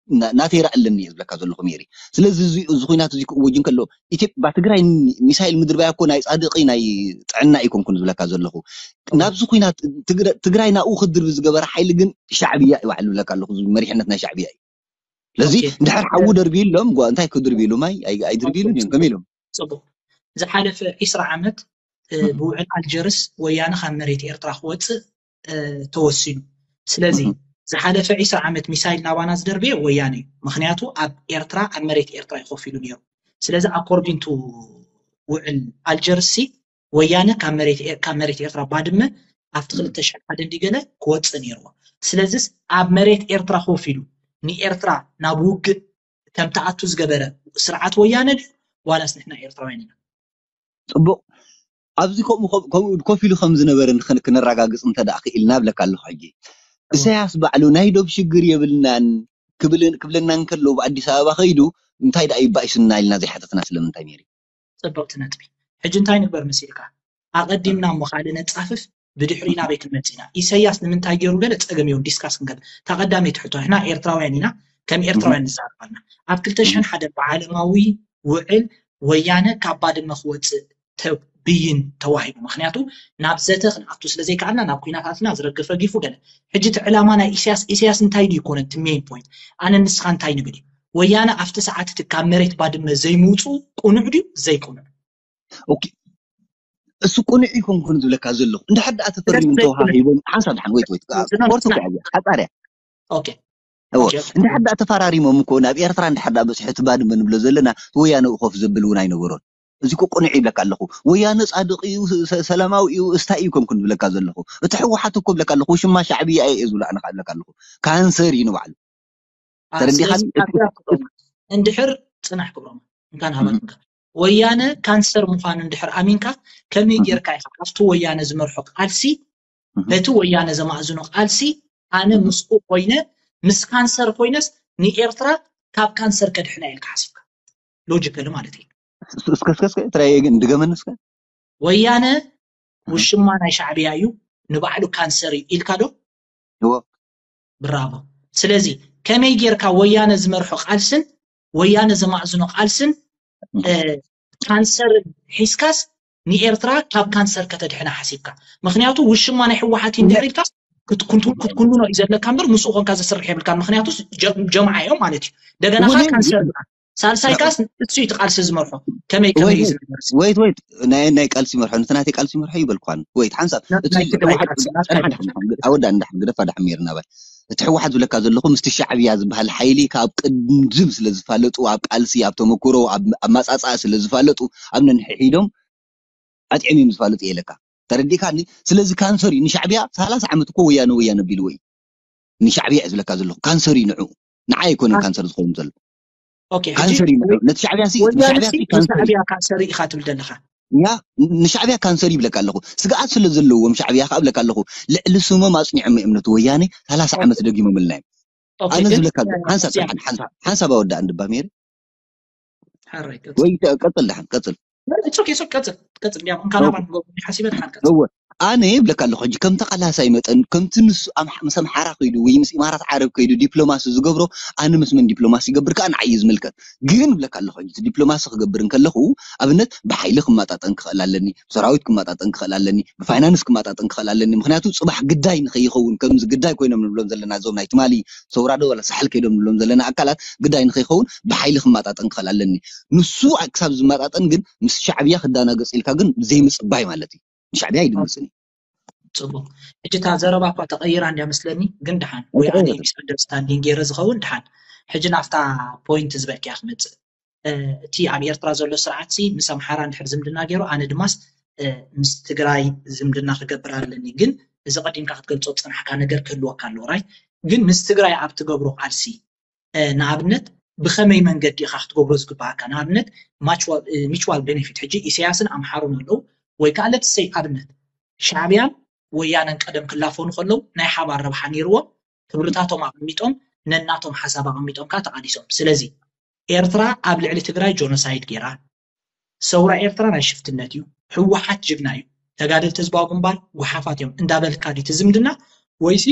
ናተይ ራእ ኣለኒ እየ ዝብለካ ዘለኹ ሜሪ። ስለዚ እዚ ኩናት እዚ ክእወጅ እንከሎ ኢትዮጵያ ትግራይ ሚሳይል ምድርባያ እኮ ናይ ፃድቂ ናይ ጥዕና ኣይኮንኩን ዝብለካ ዘለኹ ናብዚ ኩናት ትግራይ ናብኡ ክድርቢ ዝገበረ ሓይሊ ግን ሻዕብያ እዩ ባዕሉ ዝብለካ ኣለኹ መሪሕነት ናይ ሻዕብያ እዩ። ስለዚ እንድሕር ሓዉ ደርቢሎም እንታይ ክድርቢሉ ማይ ኣይድርቢሉን እዮም ከመይ ኢሎም ፅቡቅ ዝሓለፈ ዒስራ ዓመት ብውዕል ኣልጀርስ ወያነ ካብ መሬት ኤርትራ ክወፅእ ተወሲኑ። ስለዚ ዝሓለፈ ዒስራ ዓመት ሚሳይል ናባና ዝደርበየ ወያነ እዩ። ምክንያቱ ኣብ ኤርትራ ኣብ መሬት ኤርትራ እዩ ኮፍ ኢሉ ነይሩ። ስለዚ ኣኮርዲንቱ ውዕል ኣልጀርሲ ወያነ ካብ መሬት ኤርትራ ባድመ ኣብቲ ክልተ ሽሕን ሓደን ድዩ ገለ ክወፅእ ነይርዎ። ስለዚስ ኣብ መሬት ኤርትራ ኮፍ ኢሉ ንኤርትራ ናብ ውግእ ከም ትኣቱ ዝገበረ ስርዓት ወያነ ድዩ ዋላስ ንሕና ኤርትራውያን ኢና? ፅቡቕ ኣብዚ ከምኡ ከም- ከምኡ ኮፍ ኢሉ ከም ዝነበረ ንክን- ክነረጋግፅ እንተ ደኣ ክኢልና እብለካ ኣለኹ። ሕጂ እሳያስ ባዕሉ ናይ ዶብ ሽግር የብልናን ክብል- ክብለና እንከሎ፣ ብኣዲስ ኣበባ ከይዱ እንታይ ደኣ ይባኢሱና ኢልና ዘይሓተትና ስለምንታይ ነይሩ? ፅብቕቲ ነጥቢ። ሕጂ እንታይ ንግበር መሲልካ? ኣቐዲምና እሞ ካልእ ነፃፍፍ፣ ብድሕሪ ናበይ ክንመፅእ ኢና? ኢሳያስ ንምንታይ ገይሩ ገለ ፀገም የብሉ፣ ዲስካስ ክንገብር። እታ ቀዳመይቲ ሕቶ፣ ንሕና ኤርትራውያን ኢና፣ ከም ኤርትራውያን ንዛረብ ኣለና። ኣብ ክልተ ሽሕን ሓደን ብዓለማዊ ውዕል ወያነ ካብ ባድመ ክወፅእ ብይን ተዋሂቡ። ምክንያቱ ናብ ዘተ ክንኣቱ ስለ ዘይከኣልና ናብ ኩናት ኣትና ዝረግፍ ረጊፉ ገለ። ሕጂ እቲ ዕላማ ናይ ኢሳያስ፣ ኢሳያስ እንታይ ድዩ ይኮነ እቲ ሜን ፖይንት? ኣነ ንስኻ እንታይ ንብል እዩ? ወያነ ኣብቲ ሰዓት እቲ ካብ መሬት ባድመ ዘይምውፁ ቁኑዕ ድዩ ዘይቁኑዕ? ኦኬ፣ እሱ ቁኑዕ ይኮንኩን ዝብለካ ዘለኹ። እንድሕር ደኣ ተፈሪሙ ተዋሂቦም፣ ሓንሳብ ድሓን፣ ወይት ወይት፣ ፖርቱ ሓፃርያ። ኦኬ፣ እንድሕር ደኣ ተፈራሪሞም እኮ ናብ ኤርትራ እንድሕር ደኣ በፂሑ፣ እቲ ባድመ ንብሎ ዘለና ወያነ ኮፍ ዘብል እውን ኣይነበሮን። እዚ እኮ ቁኑዕ ይብለካ ኣለኹ። ወያነ ፃድቕ እዩ፣ ሰላማዊ እዩ፣ እስታይ እዩ ኮንኩን ዝብለካ ዘለኹ። እቲ ህወሓት እኮ ብለካ ኣለኹ፣ ሽማ ሻዕብያ እየ ዝብሎ ኣነ ከዓ ብለካ ኣለኹ። ካንሰር እዩ ንባዕሉ። ተረዲኻኒ? እንድሕር ፅናሕ ክብሮም፣ እንካን ሃባትካ ወያነ ካንሰር ምዃኑ እንድሕር ኣሚንካ፣ ከመይ ጌርካ ኢኻ ኣብቲ ወያነ ዝመርሖ ቃልሲ፣ በቲ ወያነ ዘማእዝኖ ቃልሲ፣ ኣነ ምስኡ ኮይነ፣ ምስ ካንሰር ኮይነስ ንኤርትራ ካብ ካንሰር ከድሕና ኢልካ ሓሲብካ? ሎጂካሊ ማለት እዩ። እስከ እስከ እስከ ትራይ ግን ድገመኒ እስከ። ወያነ ውሽማ ናይ ሻዕብያ እዩ፣ ንባዕሉ ካንሰር እዩ ኢልካ ዶ? እዎ። ብራቮ። ስለዚ ከመይ ጌርካ ወያነ ዝመርሖ ቃልስን ወያነ ዘማእዝኖ ቃልስን፣ እ፣ ካንሰር ሒዝካስ ንኤርትራ ካብ ካንሰር ከተድሕና ሓሲብካ? ምክንያቱ ውሽማ ናይ ህወሓት እዩ እንድሕር ኢልካስ ክትኩንቱ- ክትኩንኖ እዩ ዘለካ እምበር ምስኡ ኮንካ ዘስርሕ የብልካን። ምክንያቱ ጀ- ጀምዓ እዮም ማለት እዩ። ደገና እውን ካንሰር ኢኻ። ሳልሳይ ካስ እሱ እዩ እቲ ቃልሲ ዝመርሖ። ከመይ ከመይ እዩ ዝነገር? ወይት ወይት፣ ናይ ናይ ቃልሲ መርሖ፣ ነቲ ናተይ ቃልሲ መርሖ ይበልኳን። ወይት ሓንሳብ እቲ ናይ ትግራይ ህወሓት ቃልሲ ናትካ ጻንሓ ድሓን ኣወዳ እንዳሓን ግደፋ ድሓን ሜርና ባይ እቲ ህወሓት ዝብለካ ዘለኹ ምስቲ ሻዕብያ ዝበሃል ሓይሊ ካብ ቅድም ስለ ዝፋለጡ፣ ኣብ ቃልሲ፣ ኣብ ተመክሮ፣ ኣብ ኣማጻጻ ስለ ዝፋለጡ፣ ኣብ ነንሕሒዶም ኣጥዕም እዮም ዝፋለጡ የለካ። ተረዲእካኒ? ስለዚ ካንሰር እዩ ንሻዕብያ። ሰላሳ ዓመት እኮ ወያነ ወያነ ቢልዎ እዩ። ንሻዕብያ እዩ ዝብለካ ዘለኹ። ካንሰር እዩ ንዑ። ንዓይ ኣይኮነን ካንሰር ዝኸውን ዘሎ። ኦኬ፣ ሕጂ ካንሰር እዩ ንዑ። ነቲ ሻዕብያ ሲ- ወያነ ንሻዕብያ ሲ ሲ ካንሰር እዩ። ንሻዕብያ ካንሰር ኢኻ ትብል ዘለኻ? ያ ንሻዕብያ ካንሰር እዩ ብለካ ኣለኹ። ሕጂ ከም ተቓላሳይ መጠን ከም ትንሱ ኣብ ሓምሳ መሓራ ከይዱ ዲፕሎማሲ ዝገብሮ ኣነ ድማ ንሻዕብያ ካንሰር እዩ ብለካ ኣለኹ። ስግኣት ስለ ዘለዎም ሻዕብያ ከኣ ብለካ ኣለኹ። ልዕሊ ስሞም ኣጽኒዖም እዮም ነቲ ወያነ ሰላሳ ዓመት ደጊሞምልና እዮም። ኣነ ዝብለካ ሓንሳብ ሓንሳብ ኣወዳእ እንድባ ሜሪ ወይ ቀጽል ደሓን ቀጽል። እወ ኣነ ይብለካ ኣለኹ ሕጂ ከም ተቓላሳይ መጠን ከም ትንሱ ኣብ ምስ ኣምሓራ ከይዱ ወይ ምስ ኢማራት ዓረብ ከይዱ ዲፕሎማሲ ዝገብሮ ኣነ ምስ መን ዲፕሎማሲ ይገብር ከኣ ንዓይ እዩ ዝምልከት። ግን ይብለካ ኣለኹ ሕጂ ዲፕሎማሲ ክገብር እንከለኹ ኣብነት ብሓይሊ ክመጣጠን ክኽእል ኣለኒ፣ ብሰራዊት ክመጣጠን ክኽእል ኣለኒ፣ ብፋይናንስ ክመጣጠን ክኽእል ኣለኒ። ምክንያቱ ጽባሕ ግዳይ ንኸይኸውን ከምዚ ግዳይ ኮይኖም ንብሎም ዘለና እዞም ናይ ትማሊ ሰውራ ዶ ወላ ሳሕል ከይዶም ንብሎም ዘለና ኣካላት ግዳይ ንኸይኸውን ብሓይሊ ክመጣጠን ክኽእል ኣለኒ። ንሱ ክሳብ ዝመጣጠን ግን ምስ ሻዕብያ ክዳናገጽ ኢልካ ግን ዘይምጽባይ ማለት እዩ። ንሻዕብያ ኣይድምፅን እዩ። ፅቡቅ። ሕጂ እታ ዘረባ እኳ ተቐይራ እንድያ መስለኒ፣ ግን ድሓን ወይ ኣነ ሚስኣንደርስታንዲንግ ገይረ ዝኸውን ድሓን። ሕጂ ናብታ ፖይንት ዝበልክያ ክመፅእ፣ እቲ ኣብ ኤርትራ ዘሎ ስርዓት ሲ ምስ ኣምሓራ እንድሕር ዝምድና ገይሩ ኣነ ድማስ ምስ ትግራይ ዝምድና ክገብር ኣለኒ። ግን እዚ ቀዲምካ ክትገልፆ ዝፀናሕካ ነገር ክህልወካ ኣለዎ። ራይት ግን ምስ ትግራይ ኣብ ትገብሮ ቃልሲ ንኣብነት ብኸመይ መንገዲ ኢኻ ክትገብሮ ዝግባኣካ? ንኣብነት ሚቹዋል ቤኔፊት ሕጂ ኢሳያስን ኣምሓሩን ኣለዉ ወይ ከዓ ለትሰይ ኣብነት ሻዕብያን ወያነን ቀደም ክላፈኑ ከለዉ ናይ ሓባር ረብሓ ነይርዎም ክብርታቶም ኣቐሚጦም ነናቶም ሓሳብ ኣቐሚጦም ከዓ ተቓሊሶም። ስለዚ ኤርትራ ኣብ ልዕሊ ትግራይ ጆኖሳይድ ገይራ ሰውራ ኤርትራ ናይ ሽፍትነት እዩ። ህወሓት ጅግና እዩ። ተጋደልቲ ህዝባዊ ግንባር ጉሓፋት እዮም እንዳበልካ ድዩ ዝምድና ወይሲ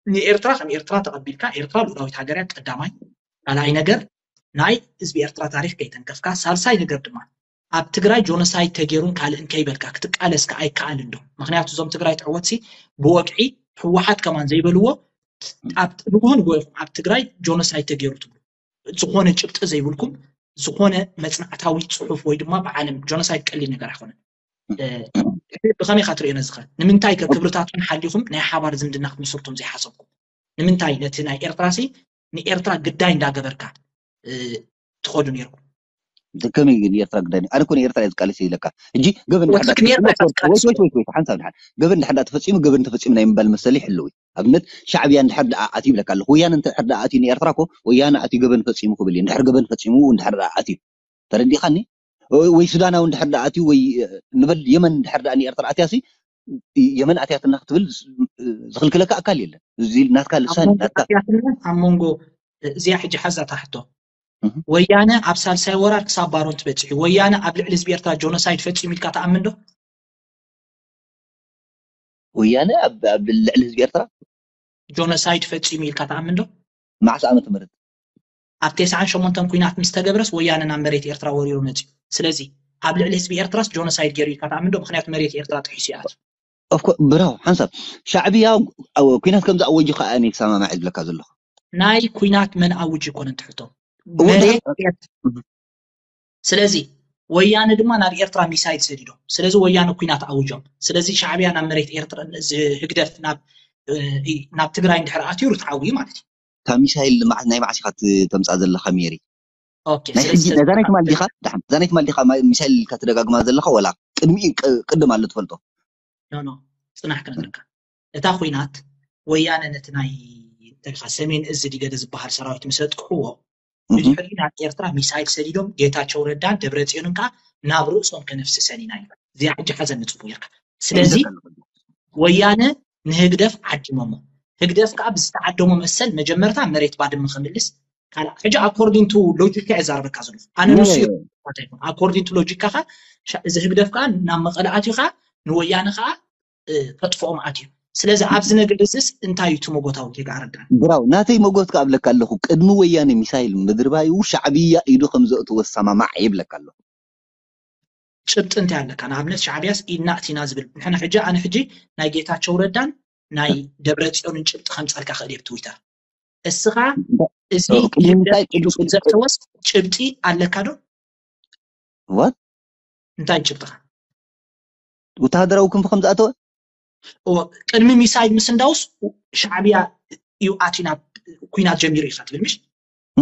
ንኤርትራ ከም ኤርትራ ተቐቢልካ ኤርትራ ልኡላዊት ሃገር እያ ቀዳማይ ካልኣይ ነገር ናይ ህዝቢ ኤርትራ ታሪክ ከይተንከፍካ ሳልሳይ ነገር ድማ ኣብ ትግራይ ጆኖሳይድ ተገይሩን ካልእን ከይበልካ ክትቃለስ ከዓ ይከኣል እንዶ ምክንያቱ እዞም ትግራይ ትዕወትሲ ብወግዒ ህወሓት ከማን ዘይበልዎ ኣብ ንግሆ ንግሆ ኢኹም ኣብ ትግራይ ጆኖሳይድ ተገይሩ ትብሉ ዝኾነ ጭብጢ ዘይብልኩም ዝኾነ መፅናዕታዊ ፅሑፍ ወይ ድማ ብዓለም ጆኖሳይድ ቀሊል ነገር ኣይኮነን። ብኸመይ ኢኻ ትሪኦ ነዚ ኸ? ንምንታይ ከ ክብርታትኩም ሓሊኹም ናይ ሓባር ዝምድና ክትምስርቶም ዘይሓሰብኩም? ንምንታይ ነቲ ናይ ኤርትራ ሲ ንኤርትራ ግዳይ እንዳገበርካ ትኸዱ ነይርኩም? ከመይ ግን ኤርትራ ግዳይ ኣነ ኮነ ኤርትራ እየ ዝቃለስ ኢለካ ሕጂ ገበን ሓንሳብ ሓንሳብ ሓንሳብ ገበን ድሓን ተፈፂሙ ገበን ተፈፂሙ ናይ ምባል መሰል ይሕልው ኣብነት ሻዕብያ እንድሕር ደኣ ኣትዩ ይብለካ ኣለኹ ወያነ እንድሕር ደኣ ኣትዩ ንኤርትራ ኮ ወያነ ኣትዩ ገበን ፈፂሙ ክብል እዩ እንድሕር ገበን ፈፂሙ እንድሕር ደኣ ኣትዩ ተረዲኻኒ ወይ- ወይ ሱዳናዊ እንድሕር ደኣ ኣትዩ ወይ ንበል የመን እንድሕር ደኣ ንኤርትራ ኣትያሲ የመን ኣትያትና ክትብል ዝኽልክለካ ኣካል የለን። እዚ ናትካ ልሳን ናትካ ኣትያትና ኣብ መንጎ እዚኣ ሕጂ ሓዛ ታሕቶ እህ። ወያነ ኣብ ሳልሳይ ወራር ክሳብ ባሮንት በፂሑ ወያነ ኣብ ልዕሊ ህዝቢ ኤርትራ ጆኖሳይድ ፈፂሙ ኢልካ ትኣምን ዶ? ወያነ ኣብ ኣብ ልዕሊ ህዝቢ ኤርትራ ጆኖሳይድ ፈፂሙ ኢልካ ትኣምን ዶ? መዓስ ዓመተ ምህረት ኣብ ተስዓን ሸሞንተን ኩናት ምስ ተገብረስ ወያነ ናብ መሬት ኤርትራ ወሪሩ መፅዩ። ስለዚ ኣብ ልዕሊ ህዝቢ ኤርትራስ ጆኖሳይድ ገይሩ ኢልካ ትኣምን ዶ? ምክንያቱ መሬት ኤርትራ ጥሒሱ ይኣት ኦፍኮ ብራው ሓንሳብ ሻዕብያ ኣብ ኩናት ከም ዝኣወጁ ከዓ እኔ ክሰማማዕ ዝብለካ ዘለኹ። ናይ ኩናት መን ኣውጅ ይኮነ እንትሕቶ እወ፣ መሬት ድሓር- ኤርትራ ስለዚ ወያነ ድማ ናብ ኤርትራ ሚሳይል ሰዲዶም። ስለዚ ወያነ ኩናት ኣውጆም። ስለዚ ሻዕብያ ናብ መሬት ኤርትራ እዚ ህግደፍ ናብ እ፣ ናብ ትግራይ እንድሕር ኣትዩ ርትዓዊ እዩ ማለት እዩ። ካብ ሚሳይል መዓ- ናይ መዓስ ኢኻ ት- ተምፃእ ዘለኻ ሜሪ? ኦኬ ናይ ስለዚ ሕጂ ነዛ ናይ ትማል ዲኻ? ደሓን ነዛ ናይ ትማል ዲኻ ማ- ሚሳይል ኢልካ ትደጋግማ ዘለኻ ወላ ቅድሚ ቅ- ቅድም ኣሎ ትፈልጦ? ኖ ኖ ጽናሕ ክነግረካ እታ ኩናት ወያነ ነቲ ናይ እንተልካ ሰሜን እዚ ዲገደ ዝበሃል ሰራዊት ምስ ኣጥቅዕዎ እህ። ብድሕሪ ናብ ኤርትራ ሚሳይል ሰዲዶም ጌታቸው ረዳን ደብረጽዮንን ከዓ ናብ ርእሶም ከነፍስሰን ኢና እዩ እዚኣ ሕጂ ሓዘን ንጽቡ ጌርካ ስለዚ ወያነ ንህግደፍ ዓዲሞሞ ህግደፍ ከዓ ብዝተዓደሞ መሰል መጀመርታ መሬት ባድመ ክምልስ ካልእ ሕጂ ኣኮርዲንቱ ሎጂካ እየ ዛረበካ ዘለኹ ኣነ ንሱ ኣኮርዲንቱ ሎጂካኻ እዚ ህግደፍ ከዓ ናብ መቐለ ኣትዩ ከዓ ንወያነ ከዓ ከጥፍኦም ኣትዩ ስለዚ ኣብዚ ነገር እዚስ እንታይ እዩ ትመጎታዊ ጌጋ ኣረዳን ብራው ናተይ መጎት ከኣብለካ ኣለኹ ቅድሚ ወያነ ሚሳይል ምድርባዩ ሻዕብያ ኢዱ ከም ዘእትወ ሰማማዕ ይብለካ ኣለኹ ጭብጢ እንታይ ኣለካ ንኣብነት ሻዕብያስ ኢድና እቲና ዝብል ንሕና ሕጂ ኣነ ሕጂ ናይ ጌታቸው ረዳን ናይ ደብረ ጽዮንን ጭብጢ ከምፀልካ ክእል ብ ትዊተር እስኻ እዚ ዘተወስ ጭብጢ ኣለካ ዶ what እንታይ ጭብጥኻ ወተሃደራዊ ክንፊ ከም ዝኣተወ ቅድሚ ሚሳይል ምስንዳውስ ሻዕብያ እዩ ኣትዩ ናብ ኩናት ጀሚሩ ኢኻ ትብል ምሽ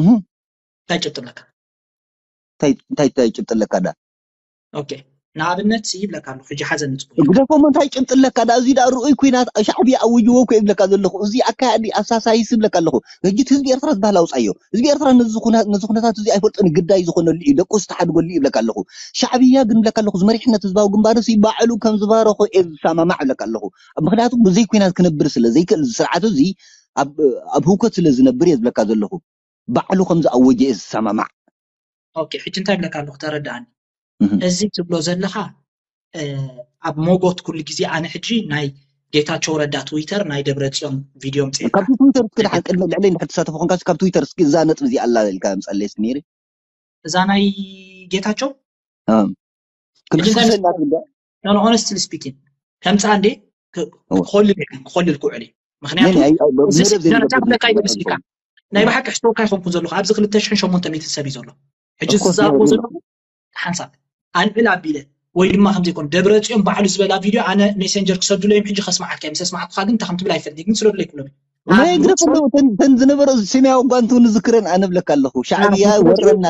እንታይ ጭብጢ ኣለካ እንታይ እንታይ ጭብጢ ኣለካ ዳ ኦኬ ንኣብነት ይብለካ ኣለኩ ሕጂ ሓዘን ንፅቡ ግደፎሞ እንታይ ጭብጢ ኣለካ ዳ እዚ ዳ ርኡይ ኩናት ሻዕብያ ኣውጅዎ እኮ ይብለካ ዘለኹ እዚ ኣካያዲ ኣሳሳይስ ይብለካ ኣለኹ ህጂ ህዝቢ ኤርትራ ዝበሃል ኣውፃዮ ህዝቢ ኤርትራ ነዚ ኩነታት እዚ ኣይፈልጦን ግዳይ ዝኾነሉ እዩ ደቁ ዝተሓድገሉ ይብለካ ኣለኹ ሻዕብያ ግን ብለካ ኣለኹ ዝመሪሕነት ህዝባዊ ግንባር ሲ ባዕሉ ከም ዝባረኾ እየ ዝሰማማዕ ብለካ ኣለኹ ምክንያቱ ብዘይ ኩናት ክነብር ስለ ዘይክእል ስርዓት እዚ ኣብ ህውከት ስለ ዝነብር እየ ዝብለካ ዘለኹ ባዕሉ ከም ዝኣወጀ እየ ዝሰማማዕ ኦኬ ሕጂ እንታይ ብለካ ኣለኹ ተረዳኣኒ እዚ ትብሎ ዘለኻ ኣብ ሞጎት ኩሉ ግዜ ኣነ ሕጂ ናይ ጌታቸው ረዳ ትዊተር ናይ ደብረ ፅዮን ቪድዮ ምፅኤካ ካብቲ ትዊተር እስኪ ድሓን ቅድሚ ልዕለይ እንድሕር ትሳተፎ ኮንካ ካብ ትዊተር እስኪ እዛ ነጥቢ እዚኣ ኣላ ኢልካ ምፀለይ እስኪ ነይሪ እዛ ናይ ጌታቸው ክልስክሰላ ትብዳ ሆነስትሊ ስፒኪን ከምፃ እንዴ ክኮልል ክኮልል ክውዕል እዩ ምክንያቱ መደብ ዘይነበረ ክብለካ ይመስልካ ናይ ብሓቂ ሕስቶካ ይኮንኩ ዘለኹ ኣብዚ ክልተ ሽሕን ሸሞንተ ሚእትን ሰብ እዩ ዘሎ ሕጂ ዝዛረቦ ዘለኹ ሓንሳብ ኣልዕል ኣቢለ ወይ ድማ ከምዘይኮነ ደብረ ፅዮን ባዕሉ ዝበላ ቪድዮ ኣነ ሜሴንጀር ክሰዱለ እዮም ሕጂ ከስማዓካ ምስ ኣስማዓኩካ ግን እንታይ ከም ትብል ኣይፈልጥ ግን ስደዱለይ ክብሎም ናይ ግረፍ ኣለዉ ተን ዝነበረ ስሚያዊ ጓንቱ ንዝክረን ኣነ ብለካ ኣለኹ ሻዕብያ ወረና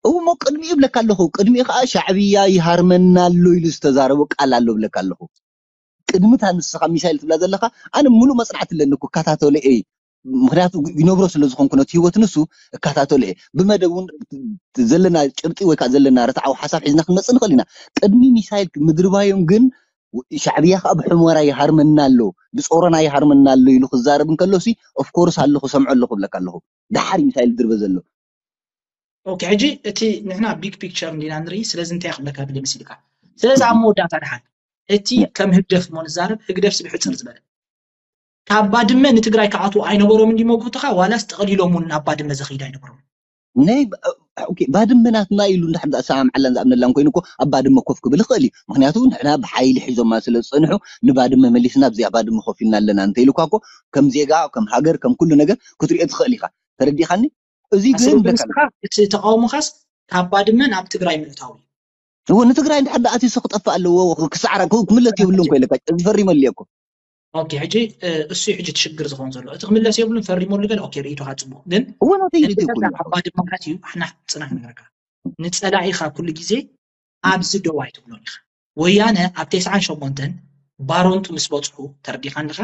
እሞ ቅድሚኡ ብለካ ኣለኹ ቅድሚኡ ከዓ ሻዕብያ ይሃርመና ኣሎ ኢሉ ዝተዛረቦ ቃል ኣሎ ብለካ ኣለኹ ቅድምታ ንስኻ ሚሳይል ትብላ ዘለኻ ኣነ ሙሉእ መፅናዕቲ ኣለኒ እኮ እከታተሎ እየ ምክንያቱ ይነብሮ ስለ ዝኾንኩ ነቲ ህይወት ንሱ እከታተሎ እየ ብመደብ እውን ዘለና ጭብጢ ወይ ከዓ ዘለና ርትዓዊ ሓሳብ ሒዝና ክንመፅእ ንኽእል ኢና ቅድሚ ሚሳይል ምድርባዮም ግን ሻዕብያ ከዓ ብሑመራ ይሃርመና ኣሎ ብፆረና ይሃርመና ኣሎ ኢሉ ክዛረብ እንከሎ ሲ ኦፍኮርስ ኣለኹ ሰምዖ ኣለኹ ብለካ ኣለኹ ደሓር ሚሳይል ድርበ ዘሎ ኦኬ ሕጂ እቲ ንሕና ቢግ ፒክቸር እንዲና ንርኢ ስለዚ እንታይ ክብለካ ድለ መሲልካ ስለዚ ኣብ መወዳእታ ድሓን እቲ ከም ህግደፍ እሞ ንዛረብ ህግደፍ ስብሕፅር ዝበለ ካብ ባድመ ንትግራይ ክኣትዉ ኣይነበሮም እንዲ መጉትኻ ዋላስ ጠቕሊሎም እውን ናብ ባድመ ዘኽይድ ኣይነበሮም ናይ ባድመ ናትና ኢሉ እንድሕር ዝኣሰማምዓላን ዝኣምነላን ኮይኑ እኮ ኣብ ባድመ ኮፍ ክብል ይኽእል እዩ ምክንያቱ ንሕና ብሓይሊ ሒዞማ ስለ ዝፀንሑ ንባድመ መሊስና ኣብዚኣ ባድመ ኮፍ ኢልና ኣለና እንተኢሉካ እኮ ከም ዜጋ ከም ሃገር ከም ኩሉ ነገር ክትሪኦ ትኽእል ኢኻ ተረዲኻኒ እዚ ግን እቲ ተቃውሞኻስ ካብ ባድመ ናብ ትግራይ ምእታው እዩ እዎ ንትግራይ እንድሕር ደኣ ኣትዩስ ክጠፍእ ኣለዎ ክሳዕራ ክምለስ የብሉን ኮ ኢለካ እዚ ፈሪመሉ እኮ ኦኬ ሕጂ እሱ ሕጂ ትሽግር ዝኸውን ዘሎ እቲ ክምለስ የብሉን ፈሪመሉ ገለ ኦኬ ርእይቶኻ ፅቡቅ ግን እዎ ናተይ ርእይቶ ኣብ ባድመ ኣትዩ ኣሕና ፅናሕ ነገርካ ንፀላኢኻ ኩሉ ግዜ ኣብዚ ደው ኣይትብሎን ኢኻ ወያነ ኣብ ተስዓን ሸሞንተን ባሮንጡ ምስ በፅሑ ተረዲኻ ኣለኻ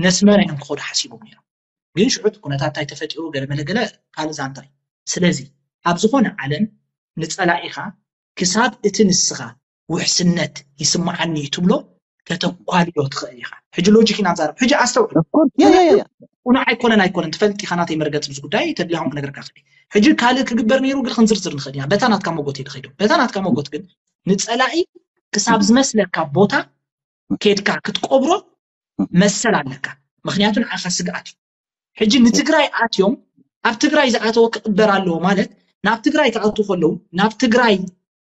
ነስመራ እዮም ክኸዱ ሓሲቦም ነይሮም ግን ሽዑ ኩነታት እንታይ ተፈጢሩ ገለ መለ ገለ ካልእ ዛንታ እዩ ስለዚ ኣብ ዝኾነ ዓለም ንጸላኢኻ ክሳብ እቲ ንስኻ ውሕስነት ይስምዓኒ እዩ ትብሎ ከተኳልዮ ትኽእል ኢኻ። ሕጂ ሎጂክ ኢና ንዛረብ። ሕጂ ኣስተውዕል። ቁኑዕ ኣይኮነን ኣይኮነን ትፈልጥ ኢኻ ናተይ መርገፂ ምስ ጉዳይ ተድሊኻ ክነግረካ ክእል። ሕጂ ካልእ ክግበር ነይሩ ግን ክንዝርዝር ንኽእል ኢና። በታ ናትካ መጎት እየ ዝኸይዶ። በታ ናትካ መጎት ግን ንፀላኢ ክሳብ ዝመስለካ ቦታ ኬድካ ክትቆብሮ መሰል ኣለካ። ምክንያቱ ንዓኻ ስግኣት እዩ። ሕጂ ንትግራይ ኣትዮም ኣብ ትግራይ ዝኣተወ ክቕበር ኣለዎ ማለት ናብ ትግራይ ክኣትዉ ከለዉ ናብ ትግራይ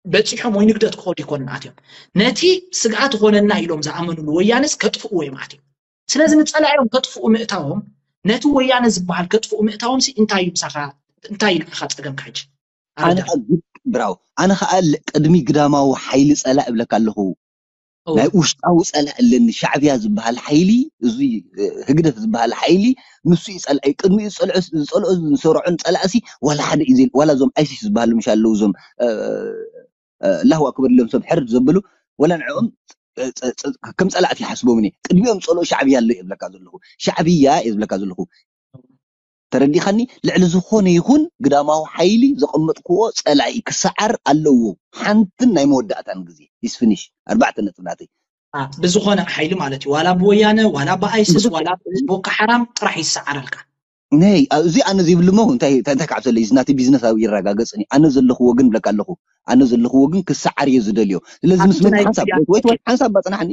በፂሖም ወይ ንግደት ክኸዱ ይኮኑን ኣትዮም ነቲ ስግኣት ኾነና ኢሎም ዝኣመኑሉ ወያነስ ከጥፍእዎ እዮም ኣትዮም። ስለዚ ንፀላኢኦም ከጥፍኡ ምእታዎም ነቲ ወያነ ዝበሃል ከጥፍኡ ምእታዎም ሲ እንታይ እዩ ምሳኻ እንታይ እዩ ንዓኻ ፀገምካ ሕጂ? ኣነ ብራው ኣነ ከዓ ቅድሚ ግዳማዊ ሓይሊ ፀላእ እብለካ ኣለኹ ናይ ውሽጣዊ ፀላእ ኣለኒ። ሻዕብያ ዝበሃል ሓይሊ እዚ ህግደፍ ዝበሃል ሓይሊ ንሱ እዩ ፀላኢ። ቅድሚኡ ዝፀልኦ ዝፀልኦ ዝሰርዖን ፀላእሲ ዋላ ሓደ እዩ ዘይል ዋላ እዞም ኣይሲስ ዝበሃሉ ምሽ ኣለዉ እዞም ላሁ ኣክበር ኢሎም ሰብ ሕርድ ዘብሉ ወላ ንዕኦም ከም ፀላእቲ ይሓስቦም እየ። ቅድሚኦም ፀልኦ ሻዕብያ ኣሎ እየ ዝብለካ ዘለኹ። ሻዕብያ እየ ዝብለካ ዘለኹ። ተረዲኻኒ? ልዕሊ ዝኾነ ይኹን ግዳማዊ ሓይሊ ዘቐመጥክዎ ፀላኢ ክሰዓር ኣለዎ። ሓንትን ናይ መወዳእታን ግዜ ይስፍንሽ ኣርባዕተ ነጥብናተይ ብዝኾነ ሓይሊ ማለት እዩ ዋላ ብወያነ ዋላ ብኣይስስ ዋላ ቦካ ሓራም ጥራሕ ይሰዓረልካ። ነይ እዚ ኣነ ዘይብልሞ እንታይ እንታይ ክዓብሰለ እዚ ናተይ ቢዝነስ ኣብ ይረጋገጽኒ ኣነ ዘለኽዎ ግን ብለካ ኣለኹ ኣነ ዘለኽዎ ግን ክሰዓር እየ ዝደልዮ ስለዚ ምስ መን ሓንሳብ ወይ ወይ ሓንሳብ ባጽናሕኒ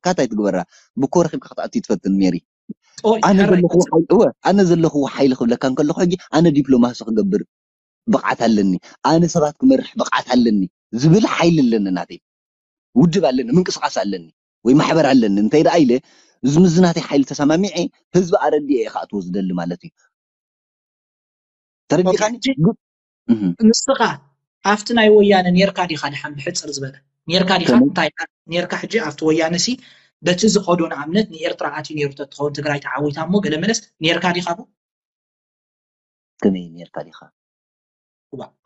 ካታይ ትግበራ ብኮ ረኺብካ ክትኣቱ ትፈትን ሜሪ ኣነ ዘለኽዎ ሓይሊ እወ ኣነ ዘለኽዎ ሓይሊ ክብለካ እንከለኹ ሕጂ ኣነ ዲፕሎማሲ ክገብር ብቕዓት ኣለኒ ኣነ ሰባት ክመርሕ ብቕዓት ኣለኒ ዝብል ሓይሊ ኣለኒ ናተይ ውድብ ኣለኒ ምንቅስቃስ ኣለኒ ወይ ማሕበር ኣለኒ እንታይ ደኣ ኢለ እዚ ምዝናተይ ሓይሊ ተሰማሚዐ ህዝቢ ኣረዲኤ እየ ክኣትዎ ዝደሊ ማለት እዩ ተረዲኻኒ ንስኻ ኣብቲ ናይ ወያነ ኔርካ ዲኻ ድሓን ብሕፅር ዝበለ ኔርካ ዲኻ እንታይ ኔርካ ሕጂ ኣብቲ ወያነ ሲ በቲ ዝኸዶ ንኣብነት ንኤርትራ ኣትዩ ነይሩ ተትኸውን ትግራይ ተዓዊታ እሞ ገለ መለስ ኔርካ ዲኻ ቡ ከመይ ኔርካ ዲኻ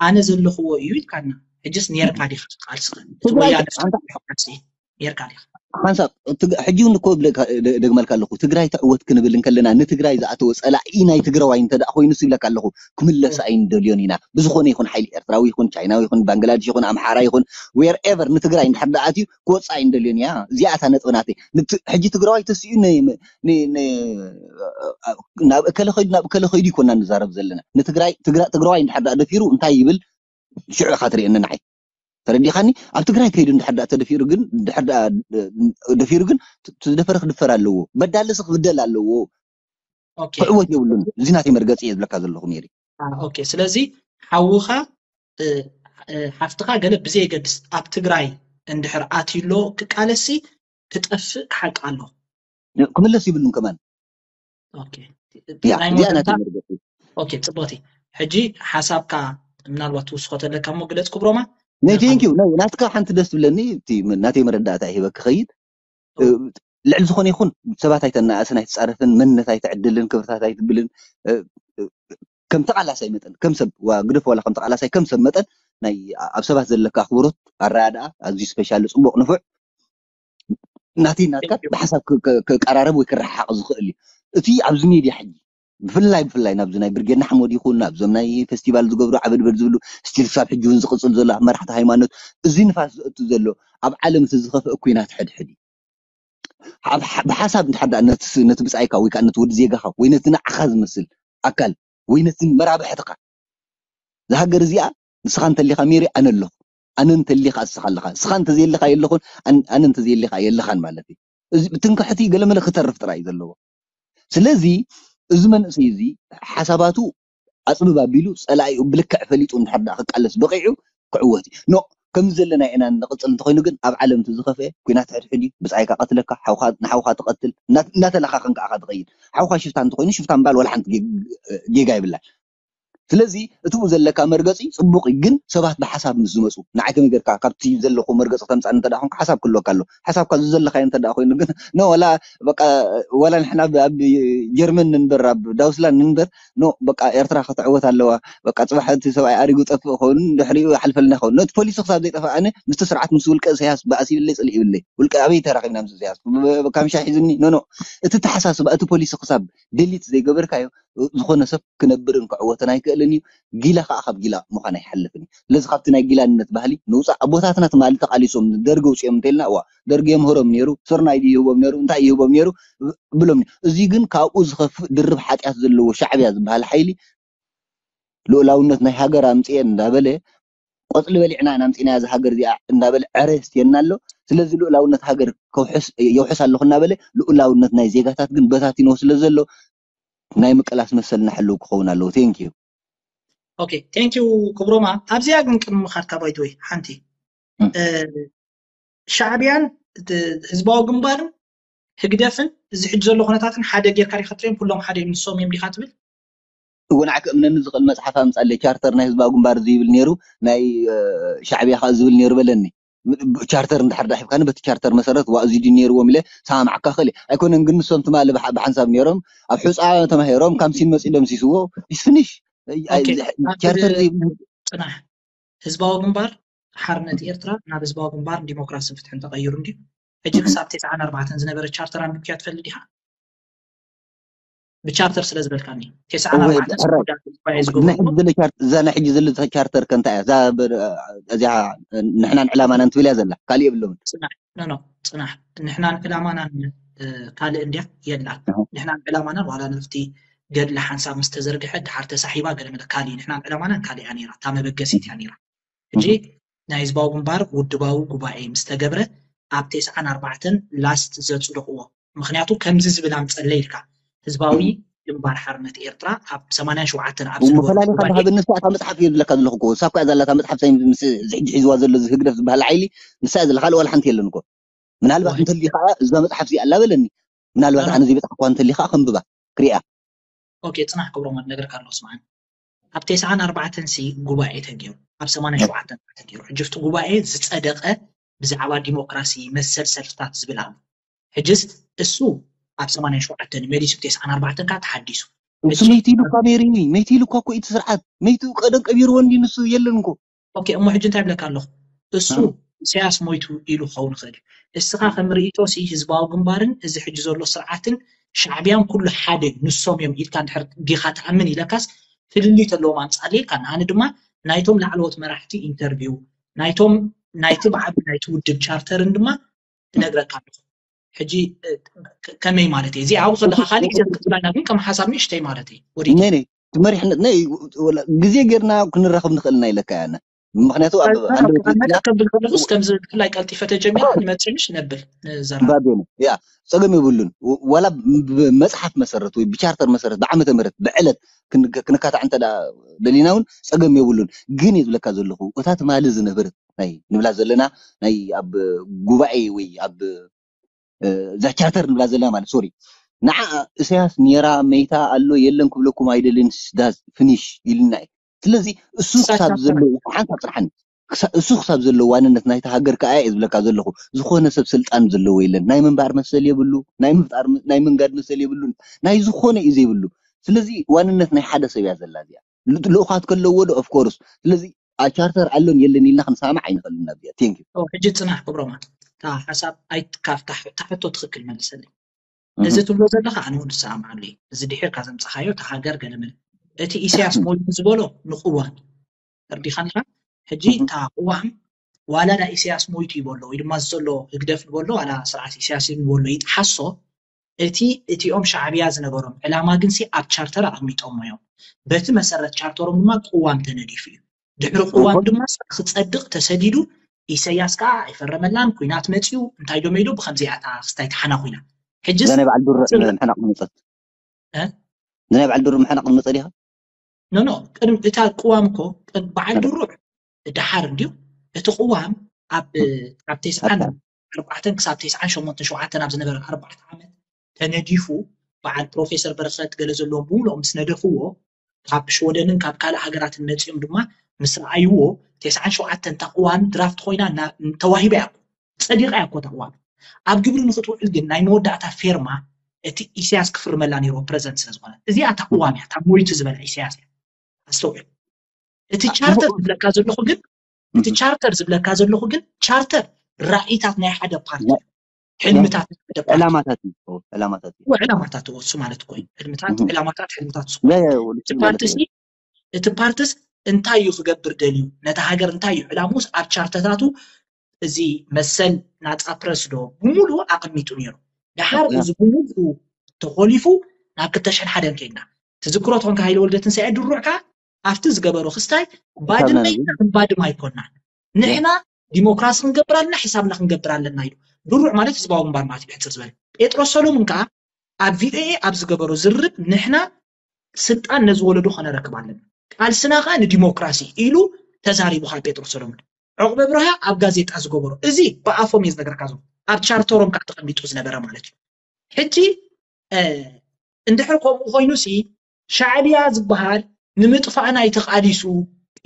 ኣነ ዘለኽዎ እዩ ኢልካና ሕጅስ ኔርካ ዲኻ ቃልስኻ እቲ ወያነ ቃልሲ ኔርካ ዲኻ ሓንሳብ ሕጂ እውን እኮ ደግመልካ ኣለኹ ትግራይ ትዕወት ክንብል እንከለና ንትግራይ ዝኣተወ ፀላኢ ናይ ትግራዋይ እንተ ደኣ ኮይኑ ይብለካ ኣለኹ ክምለስ ኣይንደልዮን ኢና ብዝኾነ ይኹን ሓይሊ ኤርትራዊ ይኹን ቻይናዊ ይኹን ባንግላድሽ ይኹን ኣምሓራ ይኹን wherever ንትግራይ እንድሕር ደኣ ኣትዩ ክወፅእ ኣይንደልዮን እያ እዚኣ እታ ነጥቢ ናተይ ሕጂ ትግራዋይ ተሲኡ ናብ እከለ ከይዱ ናብ እከለ ከይዱ ይኮና ንዛረብ ዘለና ንትግራይ ትግራዋይ እንድሕር ደኣ ደፊሩ እንታይ ይብል ሽዑ ኢኻ ትርእየኒ ንዓይ ተረዲኻኒ ኣብ ትግራይ ከይዱ እንድሕር ደኣ ተደፊሩ ግን ደፊሩ ግን ዝደፈረ ክድፈር ኣለዎ በዳልስ ክብደል ኣለዎ ክዕወት የብሉን እዚ ናተይ መርገፂ እየ ዝብለካ ዘለኹ ሜሪ ስለዚ ሓውኻ ሓፍትኻ ገለ ብዘየገድስ ኣብ ትግራይ እንድሕር ኣትዩሎ ክቃለሲ ክጠፍእ ክሓቂ ኣሎ ክምለስ ይብሉን ከማን ፅቡቅቲ ሕጂ ሓሳብካ ምናልባት ትውስኮ ተለካ ሞ ግለፅ ክብሮማ ናይ ቴንኪዩ ናትካ ሓንቲ ደስ ትብለኒ ናተይ መረዳእታ ሂበ ክኸይድ ልዕሊ ዝኾነ ይኹን ሰባት ኣይተናእስን ኣይትፃረፍን መንነት ኣይትዕድልን ክብርታት ኣይትብልን ከም ተቓላሳይ መጠን ከም ሰብ ግደፍ ዋላ ከም ተቓላሳይ ከም ሰብ መጠን ናይ ኣብ ሰባት ዘለካ ኣኽብሮት ኣረዳድኣ ኣዝዩ ስፔሻሊ ፅቡቕ ንፉዕ ናተይ ናትካ ብሓሳብ ክቀራረብ ወይ ክረሓሓቕ ዝኽእል እዩ እቲ ኣብዚ ሜድያ ሕጂ ብፍላይ ብፍላይ ናብዚ ናይ ብርጌድ ንሓመድ ይኹን ናብዞም ናይ ፌስቲቫል ዝገብሩ ዓበድበድ ዝብሉ ስቲል ክሳብ ሕጂ እውን ዝቕፅል ዘሎ ኣብ መራሕቲ ሃይማኖት እዚ ንፋስ ዘእቱ ዘሎ ኣብ ዓለም እቲ ዝኸፍአ ኩናት ሕድሕድ እዩ ብሓሳብ እንድሕር ደኣ ነቲ ብፃይካ ወይ ከዓ ነቲ ወዲ ዜጋኻ ወይ ነቲ ንዓኻ ዝመስል ኣካል ወይ ነቲ መራብሕትኻ እዛ ሃገር እዚኣ ንስኻ እንተሊኻ ሜሪ ኣነ ኣለኹ ኣነ እንተሊኻ እስኻ ኣለኻ እስኻ እንተዘየለኻ የለኹን ኣነ እንተዘየሊኻ የለኻን ማለት እዩ እዚ ብትንክሕቲ ገለመለ ክተርፍ ጥራይ እዩ ዘለዎ ስለዚ እዚ መንእሰይ እዚ ሓሳባቱ ኣፅብብ ኣቢሉ ፀላኢኡ ብልክዕ ፈሊጡ እንድሕር ደኣ ክቃለስ በቂዑ ክዕወት እዩ ኖ ከምዚ ዘለና ኢና ንቕፅል እንተኮይኑ ግን ኣብ ዓለም እቲ ዝኸፍአ ኩናት ሕድሕድ እዩ ብፃይካ ቀትለካ ንሓውካ ትቐትል እናተለኻኸን ከዓ ትኸይድ ሓውካ ሽፍታ እንተኮይኑ ሽፍታ ምባል ዋላ ሓንቲ ጌጋ ይብላል ስለዚ እትኡ ዘለካ መርገፂ ፅቡቅ እዩ ግን ሰባት ብሓሳብ ምስ ዝመፁ ንዓይ ከመይ ገርካ ካብቲ ዘለኩ መርገፂ ተምፃኒ እንተ ኮንካ ሓሳብ ክህልወካ ኣሎ ሓሳብካ ዝዘለካዮ እንተ ኮይኑ ግን ኖ ወላ በቃ ወላ ንሕና ኣብ ጀርመን ንንበር ኣብ ዳውስላንድ ንንበር ኖ በቃ ኤርትራ ክትዕወት ኣለዋ በቃ ፅባሕ እቲ ሰብኣይ ኣሪጉ ጠፍእ ከውን ድሕሪኡ ሓልፈልና ይኸውን ነቲ ፖሊሲ ክሳብ ዘይጠፋ ኣነ ምስቲ ስርዓት ምስ ውልቀ ኢሳያስ ባእሲ ይብለይ ፅልእ ይብለይ ውልቀ ኣበይ ተራኺብና ምስ ኢሳያስ ካምሻ ሒዝኒ ኖ ኖ እቲ ተሓሳስባ እቲ ፖሊሲ ክሳብ ደሊት ዘይገበርካዮ ዝኾነ ሰብ ክነብርን ክዕወትን ኣይክእል ይኽእልን እዩ። ጊላ ከዓ ካብ ጊላ ምዃን ኣይሓልፍን እዩ። ስለዚ ካብቲ ናይ ጊላነት ባህሊ ንውፃእ። ኣቦታትና ትማሊ ተቃሊሶም ደርጊ ውፅኦም እንተልና፣ እዋ ደርጊ የምህሮም ነይሩ፣ ስርናይ ድዩ ይህቦም ነይሩ፣ እንታይ ይህቦም ነይሩ ብሎም። እዚ ግን ካብኡ ዝኸፍእ ድርብ ሓጢኣት ዘለዎ ሻዕብያ ዝበሃል ሓይሊ ልኡላውነት ናይ ሃገር ኣምፅኤ እንዳበለ፣ ቆፅሊ በሊዕና ኢና ኣምፂና እዚ ሃገር እዚኣ እንዳበለ ዕረ የስትየና ኣሎ። ስለዚ ልኡላውነት ሃገር የውሕስ ኣለኹ እናበለ ልኡላውነት ናይ ዜጋታት ግን በታቲኖ ስለ ዘሎ ናይ ምቅላስ መሰልና ሕልው ክኸውን ኣለዎ። ቴንኪዩ። ኦኬ፣ ቴንኪዩ ክብሮማ። ኣብዚኣ ግን ቅድሚ ምኻድካ ባይትወይ ሓንቲ ሻዕብያን ህዝባዊ ግንባርን ህግደፍን እዚ ሕጂ ዘሎ ኩነታትን ሓደ ጌርካ ዲኻ ትሪኦም? ኩሎም ሓደ እዮም ንሶም እዮም ዲኻ ትብል? እወ ንዓይ ክእምነኒ ዝኽእል መፅሓፍ ኣምፃለይ። ቻርተር ናይ ህዝባዊ ግንባር እዚ ይብል ነይሩ፣ ናይ ሻዕብያ ከዓ ዝብል ነይሩ በለኒ። ቻርተር እንድሕር ዳሒብካኒ በቲ ቻርተር መሰረት ዋ እዚ ድዩ ነይርዎም ኢለ ሰማምዓካ ክእል። ኣይኮነን ግን ንሶም ትማሊ ብሓንሳብ ነይሮም ኣብ ሑፃ ተማሂሮም ካምሲን መፂኡ ደምሲስዎ። ፊኒሽ። ቻርተር ፅናሕ። ህዝባዊ ግንባር ሓርነት ኤርትራ ናብ ህዝባዊ ግንባር ዲሞክራስን ፍትሕን ተቐይሩ እንድዩ። ሕጂ ክሳብ ተስዓን ኣርባዕተን ዝነበረ ቻርተር ኣንቢብክያ ትፈልጥ ዲኻ? ብቻርተር ስለ ዝበልካኒ ተስዓን ኣርባዕተን እዛ ናይ ሕጂ ዘሎ ቻርተር ከ እንታይ እያ? እዚኣ ንሕናን ዕላማናን ትብል እያ ዘላ፣ ካሊእ የብለውን። ጽናሕ ንሕናን ዕላማናን ካልእ እንድያ የላን። ንሕናን ዕላማናን ዋላ ነፍቲ ገድሊ ሓንሳብ ምስ ተዘርግሐ ድሓር ተሳሒባ ገለ መለ ካልእ ንሕናን ዕላማናን ካልእ እያ ነይራ፣ እታ መበገሲት እያ ነይራ። ሕጂ ናይ ህዝባዊ ግንባር ውድባዊ ጉባኤ ምስ ተገብረ ኣብ ተስዓን ኣርባዕተን ላስት ዘጽደቕዎ። ምኽንያቱ ከምዚ ዝብል ኣምጸለይ ኢልካ ህዝባዊ ግንባር ሓርነት ኤርትራ ኣብ ሰማንያን ሸውዓተን ኣብ ዝነበሩ ፈላሊኻ ጉባኤ ዝሃበኒ ንሳ እታ መጽሓፍ እየ ዝብለካ ዘለኹ እኮ። ንሳ እኮ እያ ዘላ እታ መጽሓፍ ሳይ ምስ እዚ ሕጂ ሒዝዋ ዘሎ እዚ ህግደፍ ዝበሃል ሓይሊ ንሳ እያ ዘላ፣ ካልእ ዋላ ሓንቲ የለን እኮ። ምናልባት እንተልዩ ከዓ እዛ መጽሓፍ እዚኣ ኣላ በለኒ። ምናልባት ኣነ ዘይበጻሕኳ እንተልዩ ከዓ ከንብባ ክሪኣ። ኦኬ፣ ጽናሕ ክብሮም፣ ክነግረካ ኣለኹ፣ ስምዓኒ። ኣብ ተስዓን ኣርባዕተን ሲ ጉባኤ ተገይሩ፣ ኣብ ሰማንያን ሸውዓተን ተገይሩ። ሕጂ ኣብቲ ጉባኤ ዝጸደቐ ብዛዕባ ዲሞክራሲ መሰል ሰልፍታት ዝብል ኣሎ። ሕጅስ እሱ ኣብ ሰማንያን ሸውዓተን መሊሱ ተስዓን ኣርባዕተን ከዓ ተሓዲሱ። እሱ መይቱ ኢሉ እኳ ነይሩ እዩ። መይቱ ኢሉ እኳ እኮ እቲ ስርዓት መይቱ ቀደም ቀቢርዎ እንዲ ንሱ የለን እኮ። ኦኬ፣ እሞ ሕጂ እንታይ ብለካ ኣለኹ? እሱ ኢሳያስ ሞይቱ ኢሉ ክኸውን ይኽእል እዩ። እስኻ ከም ርእይቶ ሲ ህዝባዊ ግንባርን እዚ ሕጂ ዘሎ ስርዓትን ሻዕብያን ኩሉ ሓደ ንሶም እዮም ኢልካ እንድሕር ዲኻ ትኣምን ኢለካስ ፍልልይ ተለዎም ኣምጻለይ ኢልካ። ንኣነ ድማ ናይቶም ላዕለዎት መራሕቲ ኢንተርቪው ናይቶም ናይቲ ብዓቢ ናይቲ ውድብ ቻርተርን ድማ እነግረካ ኣለኹ። ሕጂ ከመይ ማለት እዩ? እዚ ኣብኡ ከለካ ካልእ ግዜ ክትብላና ግን ከም ሓሳብ ንእሽተይ ማለት እዩ። ወዲቱ ነይ ነይ እቲ መሪሕነት ነይ ወላ ግዜ ጌርና ክንራኸብ ንኽእል ኢና ኢለካ ያና። ምኽንያቱ ኣብ ኣንደበት ከብል ከለኹስ ከምዚ ብፍላይ ቀልጢፈ ተጀሚራ ንመጽእ ምሽ ነብል ንዘራ ባቤነ ያ ጸገም የብሉን። ወ- ዋላ ብመጽሓፍ መሰረት ወይ ብቻርተር መሰረት ብዓመተ ምህረት ብዕለት ክን- ክንካታዕ እንተ ደኣ ደሊና እውን ጸገም የብሉን። ግን እየ ዝብለካ ዘለኹ እታ ትማሊ ዝነበረት ናይ ንብላ ዘለና ናይ ኣብ ጉባኤ ወይ ኣብ እዛ ቻርተር ንብላ ዘለና ማለት ሶሪ ንዓ እሳያስ ኔራ መይታ ኣሎ የለን ክብለኩም ኣይደልን ዳዝ ፍኒሽ ኢልና እዩ። ስለዚ እሱ ክሳብ ዘሎ ሓንሳብ ፅንሓኒ እሱ ክሳብ ዘሎ ዋንነት ናይቲ ሃገር ከዓ እየ ዝብለካ ዘለኹ። ዝኾነ ሰብ ስልጣን ዘለዎ የለን። ናይ ምንባር መሰል የብሉ፣ ናይ ምፍጣር ናይ ምንጋድ መሰል የብሉን። ናይ ዝኾነ እዩ ዘይብሉ። ስለዚ ዋንነት ናይ ሓደ ሰብ እያ ዘላ እዚኣ። ልኡኻት ከለዎ ዶ ኦፍኮርስ። ስለዚ ቻርተር ኣሎን የለን ኢልና ክንሰማማዕ ኣይንኽእልን። ናብዚኣ ቴንክ ዩ። ሕጂ ፅናሕ ክብሮማ እታ ሓሳብ ኣይትካፍ እታ ሕቶ ትኽክል መልሰለይ። እዚ ትብሎ ዘለኻ ኣነ እውን ዝሰማማዓሉ እዩ። እዚ ድሒርካ ዘምፀኻዮ እታ ሃገር ገለመለ እቲ ኢሳያስ ሞይቱ ዝበሎ ንቅዋም ተርዲኻኒኻ። ሕጂ እታ ቅዋም ዋላ ዳ ኢሳያስ ሞይቱ ይበሎ ወይ ድማ ዘሎ ህግደፍ ንበሎ ዋላ ስርዓት ኢሳያስ ንበሎ ይጥሓሶ እቲ እቲኦም ሻዕብያ ዝነበሮም ዕላማ ግንሲ ኣብ ቻርተር ኣቐሚጦሞ እዮም። በቲ መሰረት ቻርተሮም ድማ ቅዋም ተነዲፉ እዩ። ድሕሪ ቅዋም ድማ ክፀድቕ ተሰዲዱ ኢሰያስ ከዓ ኣይፈረመላን። ኩናት መፅዩ እንታይ ዶ መይዶ ብከምዚኣ እታ ክስታይ ተሓና ኩናት ሕጂ ናይ በዓል ዱረ ሕናቕ መፀት ናይ በዓል ዱረ ሕናቕ መፀ ዲኻ? ኖ ኖ ቅድሚ እታ ቅዋም እኮ በዓል ድሩዕ ድሓር እንድዩ እቲ ቅዋም ኣብ ኣብ ተስዓን ኣርባዕተን ክሳብ ተስዓን ሸሞንተን ሸውዓተን ኣብ ዝነበረ ኣርባዕተ ዓመት ተነዲፉ በዓል ፕሮፌሰር በረኸት ገለ ዘለዎም ብምሉኦም ምስ ነደፍዎ ካብ ሽወደንን ካብ ካልእ ሃገራትን መፂኦም ድማ ምስ ረኣይዎ ተስዓን ሸውዓተን እታ ቅዋም ድራፍት ኮይና ተዋሂባ እያ ጸዲቓ እያ እኮ እታ ቅዋም ኣብ ግብሪ ንክትውዕል ግን ናይ መወዳእታ ፌርማ እቲ ኢሳያስ ክፍርመላ ነይርዎ ፕረዚደንት ስለ ዝኾነ እዚኣ እታ ቅዋም እያ እታ ሞይቱ ዝበላ ኢሳያስ እያ ኣስተውዕል እቲ ቻርተር ዝብለካ ዘለኹ ግን እቲ ቻርተር ዝብለካ ዘለኹ ግን ቻርተር ራእይታት ናይ ሓደ ፓርቲ ሕልምታት ናይ ሓደ ፓርቲ ዕላማታት እዩ ዕላማታት እዩ ዕላማታት እሱ ማለት እኮ እዩ ሕልምታት ዕላማታት ሕልምታት እሱ ፓርቲ እቲ ፓርትስ እንታይ እዩ ክገብር ደልዩ፣ ነታ ሃገር እንታይ እዩ ዕላሙስ ኣብ ቻርተታቱ እዚ መሰል ናፃ ፕረስ ዶ ብምሉኡ ኣቐሚጡ ነይሩ። ድሓር እዚ ብምሉኡ ተኾሊፉ ናብ ክልተ ሽሕን ሓደን ከይድና ትዝክሮ ትኾንካ ሃይለ ወልደ ትንሳኤ ድሩዕ ከኣ ኣብቲ ዝገበሮ ክስታይ ባድመ ኢልና ክንባድም ኣይኮናን ንሕና ዲሞክራሲ ክንገብር ኣለና፣ ሕሳብና ክንገብር ኣለና ኢሉ። ድሩዕ ማለት ህዝባዊ ግንባር ማለት እዩ ብሕፅር ዝበለ። ጴጥሮስ ሰሎሙን ከዓ ኣብ ቪኦኤ ኣብ ዝገበሮ ዝርርብ ንሕና ስልጣን ነዚ ወለዶ ከነረክብ ኣለና፣ ቃልስና ከዓ ንዲሞክራሲ ኢሉ ተዛሪቡ ከዓ ጴጥሮስ ሰሎሙን። ዕቑበ ብርሃ ኣብ ጋዜጣ ዝገበሮ እዚ ብኣፎም እየ ዝነግረካ ዘሎ ኣብ ቻርተሮም ከዓ ተቐሚጡ ዝነበረ ማለት እዩ። ሕጂ እንድሕር ከምኡ ኮይኑ ሲ ሻዕብያ ዝበሃል ንምጥፋእና እዩ ተቓሊሱ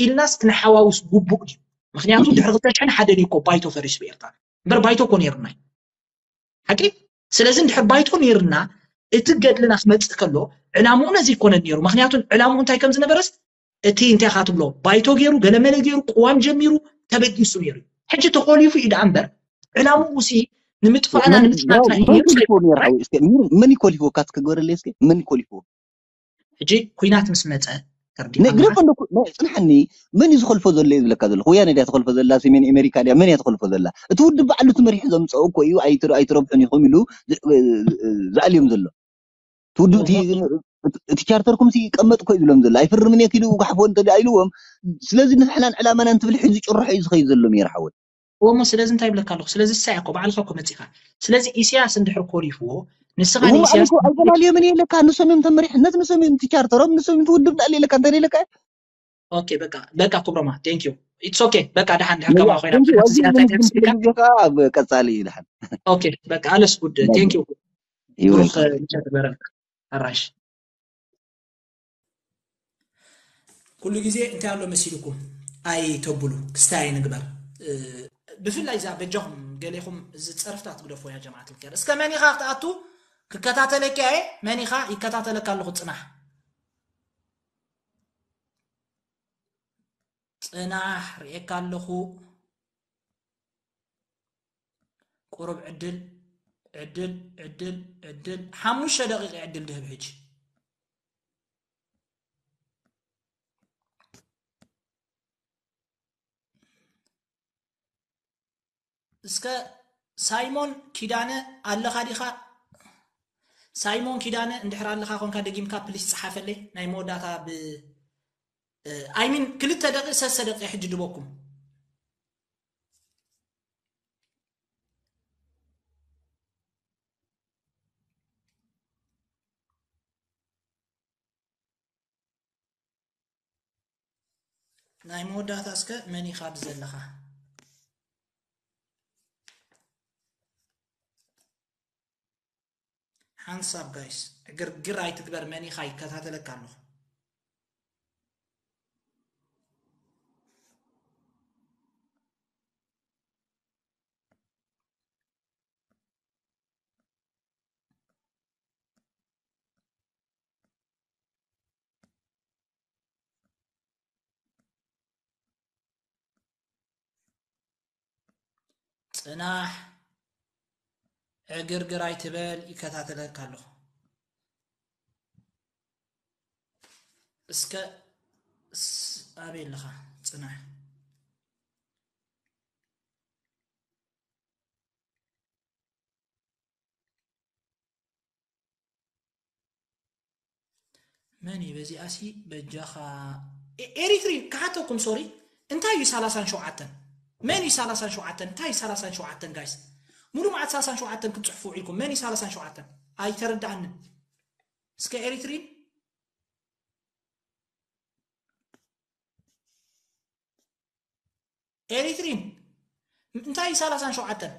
ኢልናስ ክንሓዋውስ ግቡእ ድዩ? ምክንያቱ ድሕሪ ክልተ ሽሕን ሓደን እዩ እኮ ባይቶ ፈሪሱ ብኤርትራ እምበር ባይቶ እኮ ነይርና እዩ ሓቂ። ስለዚ እንድሕር ባይቶ ነይርና እቲ ገድልና ክመፅእ ከሎ ዕላምኡ ነዚ ይኮነን ነይሩ። ምክንያቱ ዕላምኡ እንታይ ከም ዝነበረስ እቲ እንታይ ኢኻ ትብሎ ባይቶ ገይሩ ገለመለ ገይሩ ቅዋም ጀሚሩ ተበጊሱ ነይሩ። ሕጂ ተኾሊፉ እዩ ደኣ እምበር ዕላምኡ ሲ ንምጥፋእና ንምፅናትና እዩ ነይሩ። መን ይኮሊፍዎ ካት ክገበረለይ እስኪ መን ይኮሊፍዎ ሕጂ ኩናት ምስ መፀ ግረፍ እንዶ ጽንሓኒ መን እዩ ዝኸልፎ ዘሎ እዩ ዝብለካ ዘለኹ ወያነ ድያ ትኸልፎ ዘላ ሰሜን ኣሜሪካ ድያ መን እያ ትኸልፎ ዘላ እቲ ውድብ ባዕሉ ትመሪሑ ዘምፀኦ እኮ እዩ ኣይትረብሑን ኢኹም ኢሉ ዝኣልዮም ዘሎ እቲ ውድብ እቲ ቻርተርኩም ይቀመጥ እኮ ይብሎም ዘሎ ኣይፍርምን እየ ኪዱ ጋሕፎ እንተ ኢልዎም ስለዚ ንሕናን ዕላማና እንትብል ሒዙ ጭርሖ እዩ ዝኸይድ ዘሎ ሜር ሓወይ እሞ ስለዚ እንታይ ይብለካ ኣለኹ ስለዚ እሳ እኮ ባዕልኻ እኮ መፂኻ ስለዚ ኢሳያስ እንድሕር ኮሊፍዎ ንስኻ ንኢሳያስ ኣይበላልዮምን የለካ ንሶም እዮም ተመሪሕነት ንሶም እዮም ትቻርተሮም ንሶም እዮም ትውድብ ዳል የለካ እንታይ የለካ ኦኬ በቃ በቃ ክብሮማ thank you it's okay በቃ ደሓን ድሕር ከማ ኮይና ብዙሕ ዝያዳ ተስካ ቀጻሊ እዩ ደሓን ኦኬ በቃ ኣለስ ጉድ thank you ብሩኽ ምሸት በረልካ ኣራሽ ኩሉ ግዜ እንታይ ኣሎ መሲልኩም ኣይተብሉ ክስታይ ኣይንግበር ብፍላይ እዛ በጃኹም ገሌኹም እዚ ፀርፍታት ግደፎ ያ ጀማዓት ልከር እስከ መን ኢኻ ክትኣቱ ክከታተለካ እየ መን ኢኻ ይከታተለካ ኣለኹ ፅናሕ ፅናሕ ርእየካ ኣለኹ ቁሩብ ዕድል ዕድል ዕድል ዕድል ሓሙሽተ ደቂቕ ዕድል ድህብ ሕጂ እስከ ሳይሞን ኪዳነ ኣለኻ ዲኻ ሳይሞን ኪዳነ እንድሕር ኣለኻ ኮንካ ደጊምካ ፕሊስ ፀሓፈለይ ናይ መወዳእታ ብ ኣይሚን ክልተ ደቂ ሰሰ ደቂ ሕጂ ድበኩም ናይ መወዳእታ እስከ መን ኢኻ ኣብዚ ዘለኻ ሓንሳብ ጋይስ ዕግርግር ኣይትግበር መን ኢኻ ይከታተለካ ኣለኹ ፅናሕ ዕግርግር ኣይትበል ይከታተለካ ኣለኹ እስከ ኣበይ ኣለኻ ፅናሕ መን እዩ በዚኣሲ በጃኻ ኤሪትሪ ክሓተኩም ሶሪ እንታይ እዩ ሰላሳን ሸውዓተን መን እዩ ሰላሳን ሸውዓተን እንታይ እዩ ሰላሳን ሸውዓተን ጋይስ ሙሉ መዓት ሰላሳን ሸውዓተን ክትፅሕፉ ውዒልኩም መን እዩ ሰላሳን ሸውዓተን ኣይተረዳኣንን እስከ ኤሪትሪን ኤሪትሪን እንታይ ሰላሳን ሸውዓተን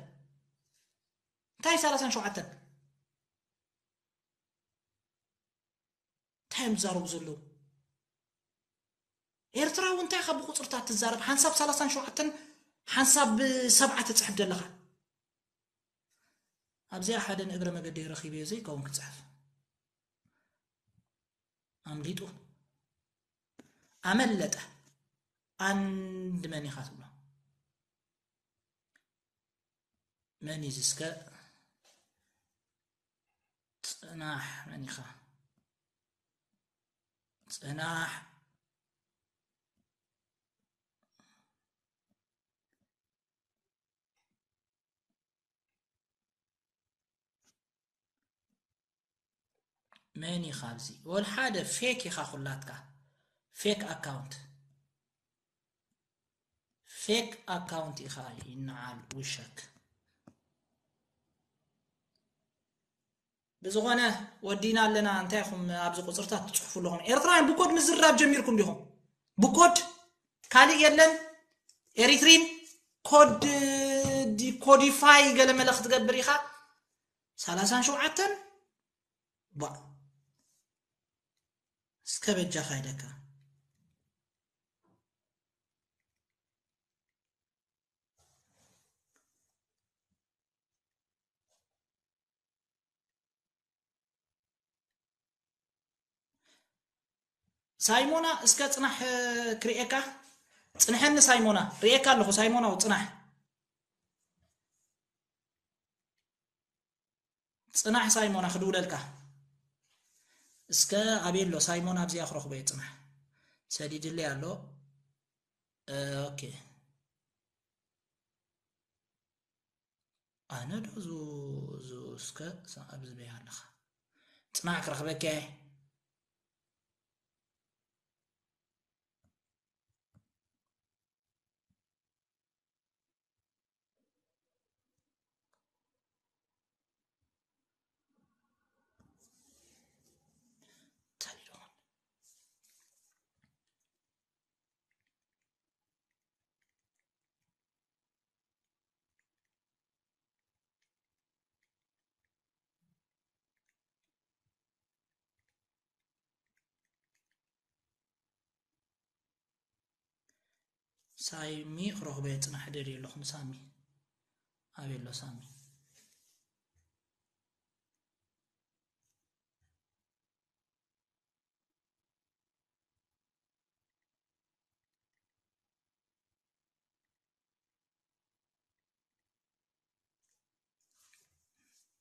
እንታይ ሰላሳን ሸውዓተን እንታይ እዮም ዝዛረቡ ዘለዉ ኤርትራዊ እንታይ ካብ ብቁፅርታት ትዛረብ ሓንሳብ ሰላሳን ሸውዓተን ሓንሳብ ሰብዓ ትፅሕፍ ዘለኻ ኣብዚኣ ሓደ ንእግረ መገደይ ረኺበዮ ዘይከውን ክፅሕፍ ኣምሊጡ ኣመለጠ ኣንድ መን ኢኻ ትብሎ መን እዩ ዝስከ ፅናሕ መን ኢኻ ፅናሕ መን ኢኻ ኣብዚ? ወል ሓደ ፌክ ኢኻ ኩላትካ። ፌክ ኣካውንት። ፌክ ኣካውንት ኢኻ ይነዓል ውሸክ። ብዝኾነ ወዲና ኣለና። እንታይ ኢኹም ኣብዚ ቁፅርታት ትፅሕፉ ኣለኹም? ኤርትራውያን ብኮድ ምዝራብ ጀሚርኩም ዲኹም? ብኮድ ካልእ የለን። ኤሪትሪን ኮድ ዲኮዲፋይ ገለ መለ ክትገብር ኢኻ። ሰላሳን ሸውዓተን ባ እስከ በጃኻ ኢለካ። ሳይሞና እስከ ጽናሕ፣ እ፣ ክርእየካ። ጽንሐኒ ሳይሞና፣ ርእየካ ኣለኹ ሳይሞና፣ ጽናሕ። ጽናሕ ሳይሞና ክድውለልካ። እስከ ኣበይ ኣሎ ሳይሞን? ኣብዚኣ ክረኽቦ እየ። ጽናሕ ሰዲድለይ ኣሎ። እ፣ ኦኬ። ኣነ ዶ ዙ-፣ ዙ-፣ እስከ ሳ-፣ ኣብዚ በይ ኣለኻ? ጽናሕ ክረኽበካ እየ። ሳሚ ክረኽቦ እየ፣ ጽናሕ ደልየ ኣለኹ ንሳሚ። ኣበይ ኣሎ ሳሚ?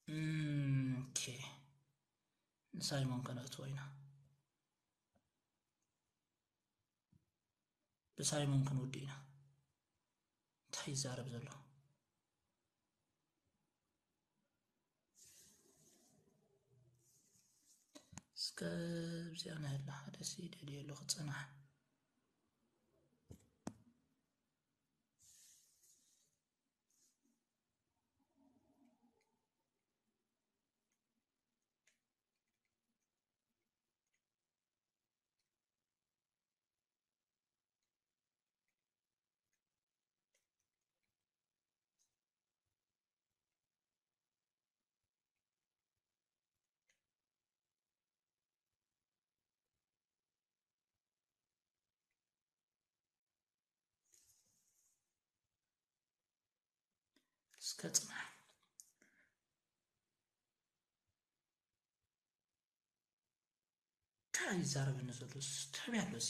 እም፣ ኦኬ። ንሳይሞን ከነእትዎ ኢና። ብሳይሞን ክንውድእ ኢና። እንታይ ይዛረብ ዘሎ? እስከ ኣብዚኣ ናይ ኣላ ሓደ ሲ ደልየ ኣለኹ፣ ጽናሕ። እስከ ጽናሕ። እንታይ ይዛረበኒ ዘሎ? ስ-፣ እንታይ ኣሎ እዚ?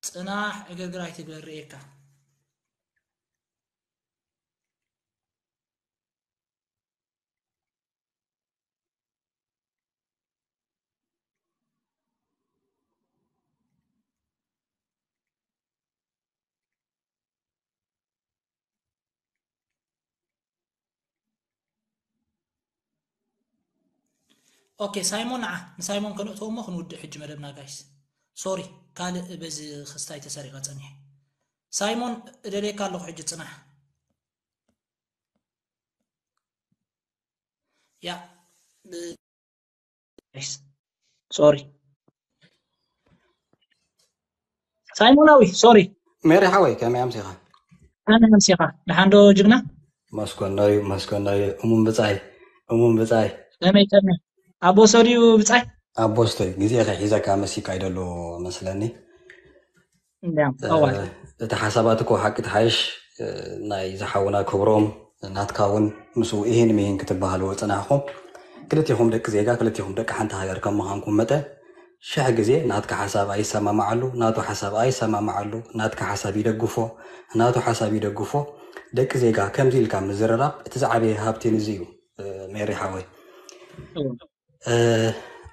ጽናሕ፣ ዕግርግር ኣይትግበር፣ ርእየካ። ኦኬ፣ ሳይሞን ንዓ፣ ንሳይሞን ከነእትዎ እሞ ክንውድእ ሕጂ መደብና ጋይስ። ሶሪ፣ ካልእ በዚ ክስታይ ተሰሪቐ ጸኒሐ። ሳይሞን እደልየካ ኣለኹ ሕጂ ጽናሕ። ያ፣ ብ-፣ ሶሪ። ሳይሞናዊ፣ ሶሪ። ሜሪ ሓወይ፣ ከመይ ኣምሲኻ? ኣነ ኣምሲኻ። ደሓን ዶ ጅግና? መስኮናዩ፣ መስኮናዩ። እሙን ብጻይ፣ እሙን ብጻይ። ከመይ፣ ከመይ? ኣቦ ሰድዩ ብጻይ? ኣቦ ስተዩ፣ ግዜ ከሒዘካ መሲካ ይደሎ መስለኒ። እንዲያም፣ እ፣ ጠዋል። እቲ ሓሳባት እኮ ሓቂ ትሓይሽ፣ እ፣ ናይ ዝሓውና ክብሮም፣ ናትካ እውን ምስኡ ኢሂን ሚሂን ክትበሃልዎ ጽናሕኹም። ክልቲኹም ደቂ ዜጋ፣ ክልቲኹም ደቂ ሓንቲ ሃገር ከም ምዃንኩም መጠን፣ ሽሕ ግዜ ናትካ ሓሳብ ኣይሰማማዓሉ፣ ናቱ ሓሳብ ኣይሰማማዓሉ፣ ናትካ ሓሳብ ይደግፎ፣ ናቱ ሓሳብ ይደግፎ። ደቂ ዜጋ ከምዚ ኢልካ ምዝርራብ እቲ ዝዓበየ ሃብቲ ንዚ እዩ። ሜሪ ሓወይ፣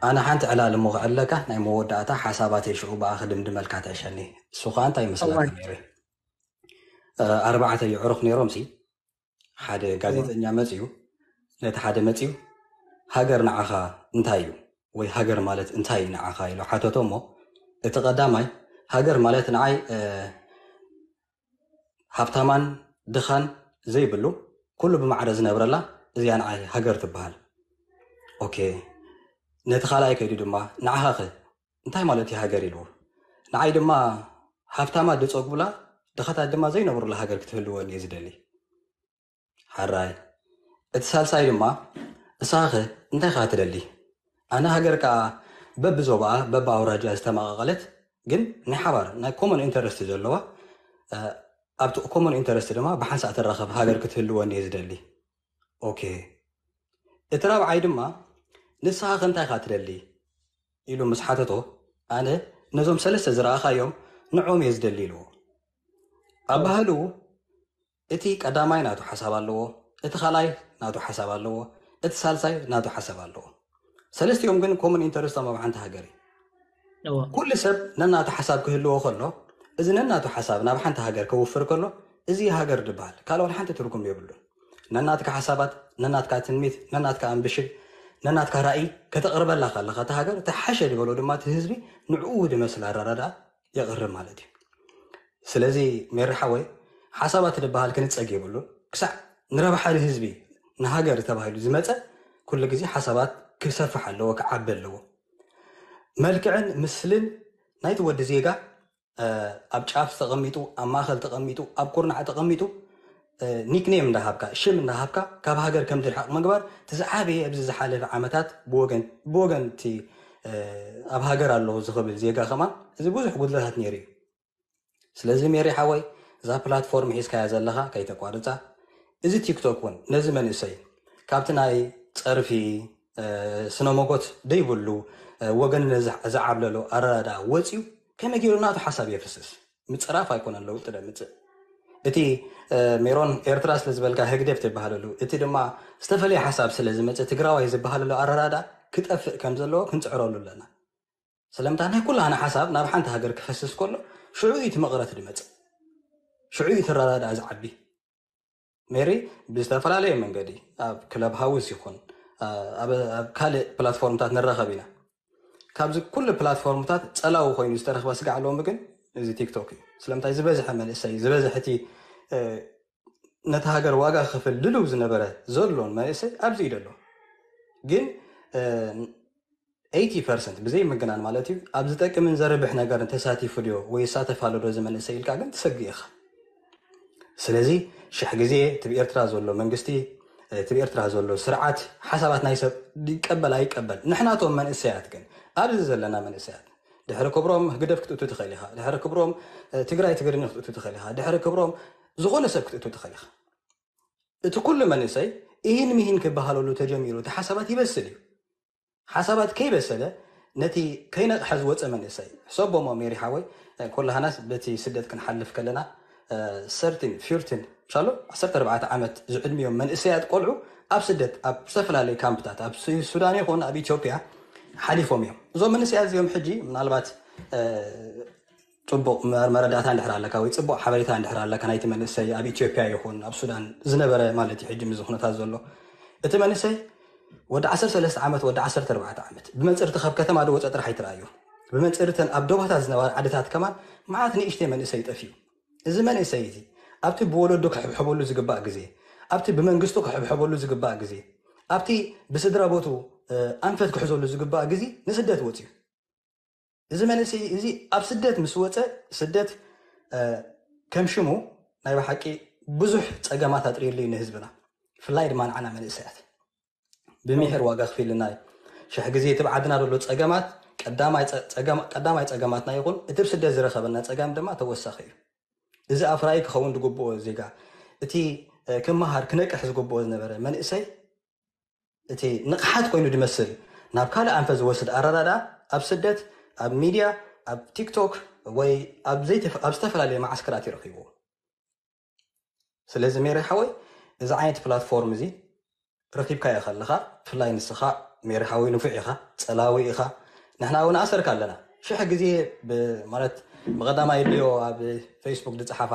ኣነ ሓንቲ ዕላል እሞ ክዕለካ ናይ መወዳእታ ሓሳባተይ ሽዑ ብኣ ክድምድመልካ ትዕሸኒ። እሱ ከዓ እንታይ ይመስለካ ሜሪ? ኣርባዕተ የዕሩኽ ነይሮም ሲ ሓደ ጋዜጠኛ መፅዩ ነቲ ሓደ መፅዩ ሃገር ንዓኻ እንታይ እዩ ወይ ሃገር ማለት እንታይ እዩ ንዓኻ ኢሉ ሓተቶ እሞ እቲ ቀዳማይ ሃገር ማለት ንዓይ ሃብታማን ድኻን ዘይብሉ ኩሉ ብማዕረ ዝነብረላ እዚኣ ንዓይ ሃገር ትበሃል። ኦኬ ነቲ ካልኣይ ከይዱ ድማ ንዓኻ ኸ እንታይ ማለት እዩ ሃገር ኢልዎ ንዓይ ድማ ሃብታማት ዝፀግቡላ ድኻታት ድማ ዘይነብሩላ ሃገር ክትህልወኒ እየ ዝደሊ። ሓራይ እቲ ሳልሳይ ድማ ንስኻ ኸ እንታይ ኻ ትደሊ? ኣነ ሃገር ከዓ በብዞባኣ በብኣውራጃ ዝተመቓቐለት ግን ናይ ሓባር ናይ ኮመን ኢንተረስት ዘለዋ ኣብቲ ኮመን ኢንተረስት ድማ ብሓንሳእ ትራኸብ ሃገር ክትህልወኒ እየ ዝደሊ። ኦኬ እቲ ራብዓይ ድማ ንስኻ ኸ እንታይ ኻ ትደሊ ኢሉ ምስ ሓተቶ ኣነ ነዞም ሰለስተ ዝረኣኻዮም ንዖም እየ ዝደሊ ኢልዎ። ኣባህልኡ እቲ ቀዳማይ ናቱ ሓሳብ ኣለዎ፣ እቲ ካልኣይ ናቱ ሓሳብ ኣለዎ፣ እቲ ሳልሳይ ናቱ ሓሳብ ኣለዎ። ሰለስቲኦም ግን ኮመን ኢንተረስቶም ኣብ ሓንቲ ሃገር እዩ። ኩሉ ሰብ ነናቱ ሓሳብ ክህልዎ ከሎ እዚ ነናቱ ሓሳብ ናብ ሓንቲ ሃገር ከውፍር ከሎ እዚ ሃገር ድበሃል ካልኦት ሓንቲ ትርጉም የብሉን። ነናትካ ሓሳባት ነናትካ ትንሚት ነናትካ ኣምብሽን ነናትካ ራእይ ከተቕርበላ ከለካ እቲ ሃገር እቲ ሓሸ ዝበሎ ድማ እቲ ህዝቢ ንዕኡ ድመስል ኣረዳድኣ የቕርብ ማለት እዩ። ስለዚ ሜሪ ሓወይ ሓሳባት ዝበሃል ክንፀግ የብሉን። ክሳዕ ንረብሓ ንህዝቢ ንሃገር ተባሂሉ ዝመፀ ኩሉ ግዜ ሓሳባት ክሰፍሕ ኣለዎ፣ ክዓቢ ኣለዎ። መልክዕን ምስልን ናይቲ ወዲ ዜጋ ኣብ ጫፍ ተቐሚጡ፣ ኣብ ማእኸል ተቐሚጡ፣ ኣብ ኩርናዕ ተቐሚጡ ኒክኔም እንዳሃብካ ሽም እንዳሃብካ ካብ ሃገር ከም ዝርሕቕ ምግባር እቲ ዝዓበየ ኣብዚ ዝሓለፈ ዓመታት ብወገን ብወገን እቲ ኣብ ሃገር ኣለኹ ዝኽብል ዜጋ ከማን እዚ ብዙሕ ጉድለታት ነይሩ እዩ። ስለዚ ሜሪ ሓወይ እዛ ፕላትፎርም ሒዝካያ ዘለኻ ከይተቋርፃ። እዚ ቲክቶክ እውን ነዚ መንእሰይ ካብቲ ናይ ፀርፊ ስነሞጎት ደይብሉ ወገን ዝዓብለሎ ኣረዳድኣ ወፂኡ ከመይ ገይሩ ናቱ ሓሳብ የፍስስ ምፅራፍ ኣይኮነን ለውጢ ደምፅእ። እቲ ሜሮን ኤርትራ ስለ ዝበልካ ህግደፍ ትበሃለሉ እቲ ድማ ዝተፈለየ ሓሳብ ስለ ዝመፅእ ትግራዋይ ዝበሃለሉ ኣረዳድኣ ክጠፍእ ከም ዘለዎ ክንፅዕረሉ ኣለና። ስለምንታይ ናይ ኩላህና ሓሳብ ናብ ሓንቲ ሃገር ክፈስስ ከሎ ሽዑ እዩ እቲ መቕረት ዝመፅእ፣ ሽዑ እዩ እቲ ኣረዳድኣ ዝዓቢ። ሜሪ ብዝተፈላለየ መንገዲ ኣብ ክለብ ሃውስ ይኹን ኣብ ካልእ ፕላትፎርምታት ንራኸብ ኢና። ካብዚ ኩሉ ፕላትፎርምታት ፀላዊ ኮይኑ ዝተረኽበ ስጋዕ ሎሚ ግን እዚ ቲክቶክ እዩ። ስለምንታይ ዝበዝሐ መንእሰይ ዝበዝሐ እቲ ነቲ ሃገር ዋጋ ክኽፍል ድልው ዝነበረ ዘሎን መንእሰይ ኣብዚ እዩ ዘሎ። ግን ኤይቲ ፐርሰንት ብዘይ ምግናን ማለት እዩ ኣብ ዝጠቅምን ዘርብሕ ነገር ተሳቲፉ ድዮ ወይ ይሳተፍ ኣሎ ዶ እዚ መንእሰይ ኢልካ ግን ትሰግእ ኢኻ። ስለዚ ሽሕ ግዜ እቲ ብኤርትራ ዘሎ መንግስቲ እቲ ብኤርትራ ዘሎ ስርዓት ሓሳባት ናይ ሰብ ይቀበል ኣይቀበል ንሕናቶም መንእሰያት ግን ኣብዚ ዘለና መንእሰያት ድሕሪ ክብሮም ህግደፍ ክትእቱ ትኽእል ኢኻ። ድሕሪ ክብሮም ትግራይ ትግርኛ ክትእቱ ትኽእል ኢኻ። ድሕሪ ክብሮም ዝኾነ ሰብ ክትእቱ ትኽእል ኢኻ። እቲ ኩሉ መንእሰይ ኢሂን ሚሂን ክበሃለሉ ተጀሚሩ እቲ ሓሳባት ይበስል እዩ። ሓሳባት ከይበሰለ ነቲ ከይነቕሐ ዝወፀ መንእሰይ ሕሰቦሞ ሜሪ ሓወይ። ኩላህናስ በቲ ስደት ክንሓልፍ ከለና ሰርቲን ፊርቲን ሻሎ ዓሰርተ ኣርባዕተ ዓመት ዝዕድሚዮም መንእሰያት ቆልዑ ኣብ ስደት ኣብ ዝተፈላለዩ ካምፕታት ኣብ ሱዳን ይኹን ኣብ ኢትዮጵያ ሓሊፎም እዮም። እዞም መንእሰያት እዚኦም ሕጂ ምናልባት ፅቡቕ መረዳእታ እንድሕር ኣለካ ወይ ፅቡቕ ሓበሬታ እንድሕር ኣለካ ናይቲ መንእሰይ ኣብ ኢትዮጵያ ይኹን ኣብ ሱዳን ዝነበረ ማለት እዩ ሕጂ ምዚ ኩነታት ዘሎ እቲ መንእሰይ ወዲ ዓሰርተ ሰለስተ ዓመት ወዲ ዓሰርተ ኣርባዕተ ዓመት ብመንፅርቲ ካብ ከተማ ዝወፀ ጥራሕ ኣይትረኣዮ። ብመንፅርተን ኣብ ዶባታት ዝነበራ ዓድታት ከማን መዓት ንእሽተይ መንእሰይ ጠፊኡ። እዚ መንእሰይ እዚ ኣብቲ ብወለዱ ክሕብሐበሉ ዝግባእ ግዜ ኣብቲ ብመንግስቱ ክሕብሐበሉ ዝግባእ ግዜ ኣብቲ ብስድራ ቦቱ ኣንፈት ክሕዘሉ ዝግባእ ግዜ ንስደት ወፅዩ። እዚ መንእሰይ እዚ ኣብ ስደት ምስ ወፀ ስደት ከም ሽሙ ናይ ብሓቂ ብዙሕ ፀገማት ኣጥርየሉ እዩ ንህዝብና ብፍላይ ድማ ንዓና መንእሰያት ብምሒር ዋጋ ክፊልና እዩ። ሽሕ ግዜ እቲ ብዓድና ዘሎ ፀገማት ቀዳማይ ፀገማትና ይኹን እቲ ብስደት ዝረኸበና ፀገም ድማ ተወሳኺ እዩ። እዚ ኣፍራዪ ክኸውን ዝግብኦ ዜጋ እቲ ክመሃር ክነቅሕ ዝግብኦ ዝነበረ መንእሰይ እቲ ንቕሓት ኮይኑ ዝመስል ናብ ካልእ ኣንፈት ዝወስድ ኣረዳድኣ ኣብ ስደት ኣብ ሚድያ፣ ኣብ ቲክቶክ ወይ ኣብ ዘይተፈ- ኣብ ዝተፈላለየ መዓስከራት ይረኺብዎ። ስለዚ ሜሪ ሓወይ፣ እዚ ዓይነት ፕላትፎርም እዚ ረኺብካዮ ከለኻ፣ ብፍላይ ንስኻ ሜሪ ሓወይ ንፉዕ ኢኻ፣ ጸላዊ ኢኻ። ንሕና እውን ኣሰርካ ኣለና። ሽሕ ግዜ ብ- ማለት ብቐዳማይ ድዮ ኣብ ፌስቡክ ዝጸሓፋ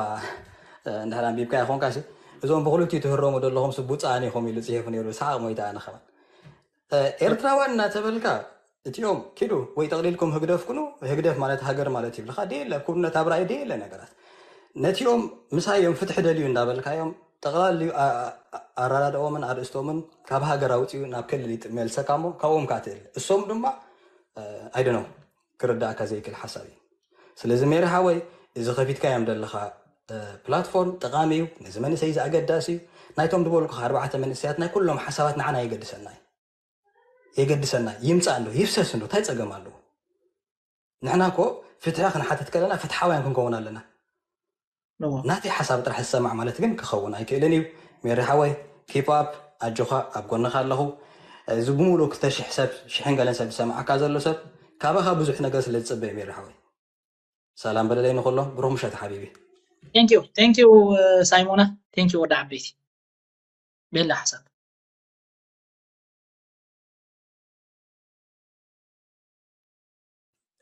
እንድሕር ኣንቢብካዮ ኾንካ ሲ፣ እዞም ብኽልቲኡ ትህረሙ ዘለኹም ስቡፃን ኢኹም ኢሉ ጽሒፉ ነይሩ። ሰሓቕ ሞይታ ኣነ ኸማን። ኤርትራውያን እናተበልካ እቲኦም ኪዱ ወይ ጠቕሊልኩም ህግደፍ ኩኑ፣ ህግደፍ ማለት ሃገር ማለት ይብልካ ደየለ ኩነት ኣብ ራእይ ደየለ ነገራት። ነቲኦም ምሳዮም ፍትሒ ደልዩ እንዳበልካዮም ጠቕላልዩ ኣራዳድኦምን ኣርእስቶምን ካብ ሃገር ኣውፅኡ ናብ ክልል ይጥ- መልሰካ እሞ ካብኦም ካትእል እሶም ድማ ኣይደኖ ክርዳእካ ዘይክእል ሓሳብ እዩ። ስለዚ ሜሪ ሓወይ፣ እዚ ከፊትካዮም ዘለኻ ፕላትፎርም ጠቓሚ እዩ። ነዚ መንእሰይ እዚ ኣገዳሲ እዩ። ናይቶም ዝበልኩ ኣርባዕተ መንእሰያት ናይ ኩሎም ሓሳባት ንዓና የገድሰና እዩ። የገድሰና ይምፃእ እንዶ ይፍሰስ እንዶ እንታይ ፀገም ኣለዎ? ንሕና እኮ ፍትሒ ክንሓትት ከለና ፍትሓውያን ክንከውን ኣለና። ናተይ ሓሳብ ጥራሕ ዝሰማዕ ማለት ግን ክኸውን ኣይክእልን እዩ። ሜሪ ሓወይ፣ ኪፕ ኣፕ፣ ኣጆኻ፣ ኣብ ጎንኻ ኣለኹ። እዚ ብምሉእ ክልተ ሽሕ ሰብ ሽሕን ገለን ሰብ ዝሰማዓካ ዘሎ ሰብ ካባኻ ብዙሕ ነገር ስለ ዝፅበ እዩ። ሜሪ ሓወይ፣ ሰላም በለለይ ንኩሎም። ብሩኽ ምሸት ሓቢቢ። ቴንኪዩ ቴንኪዩ ሳይሞና፣ ቴንኪዩ ወዲ ዓበይቲ። ቤላ ሓሳብ።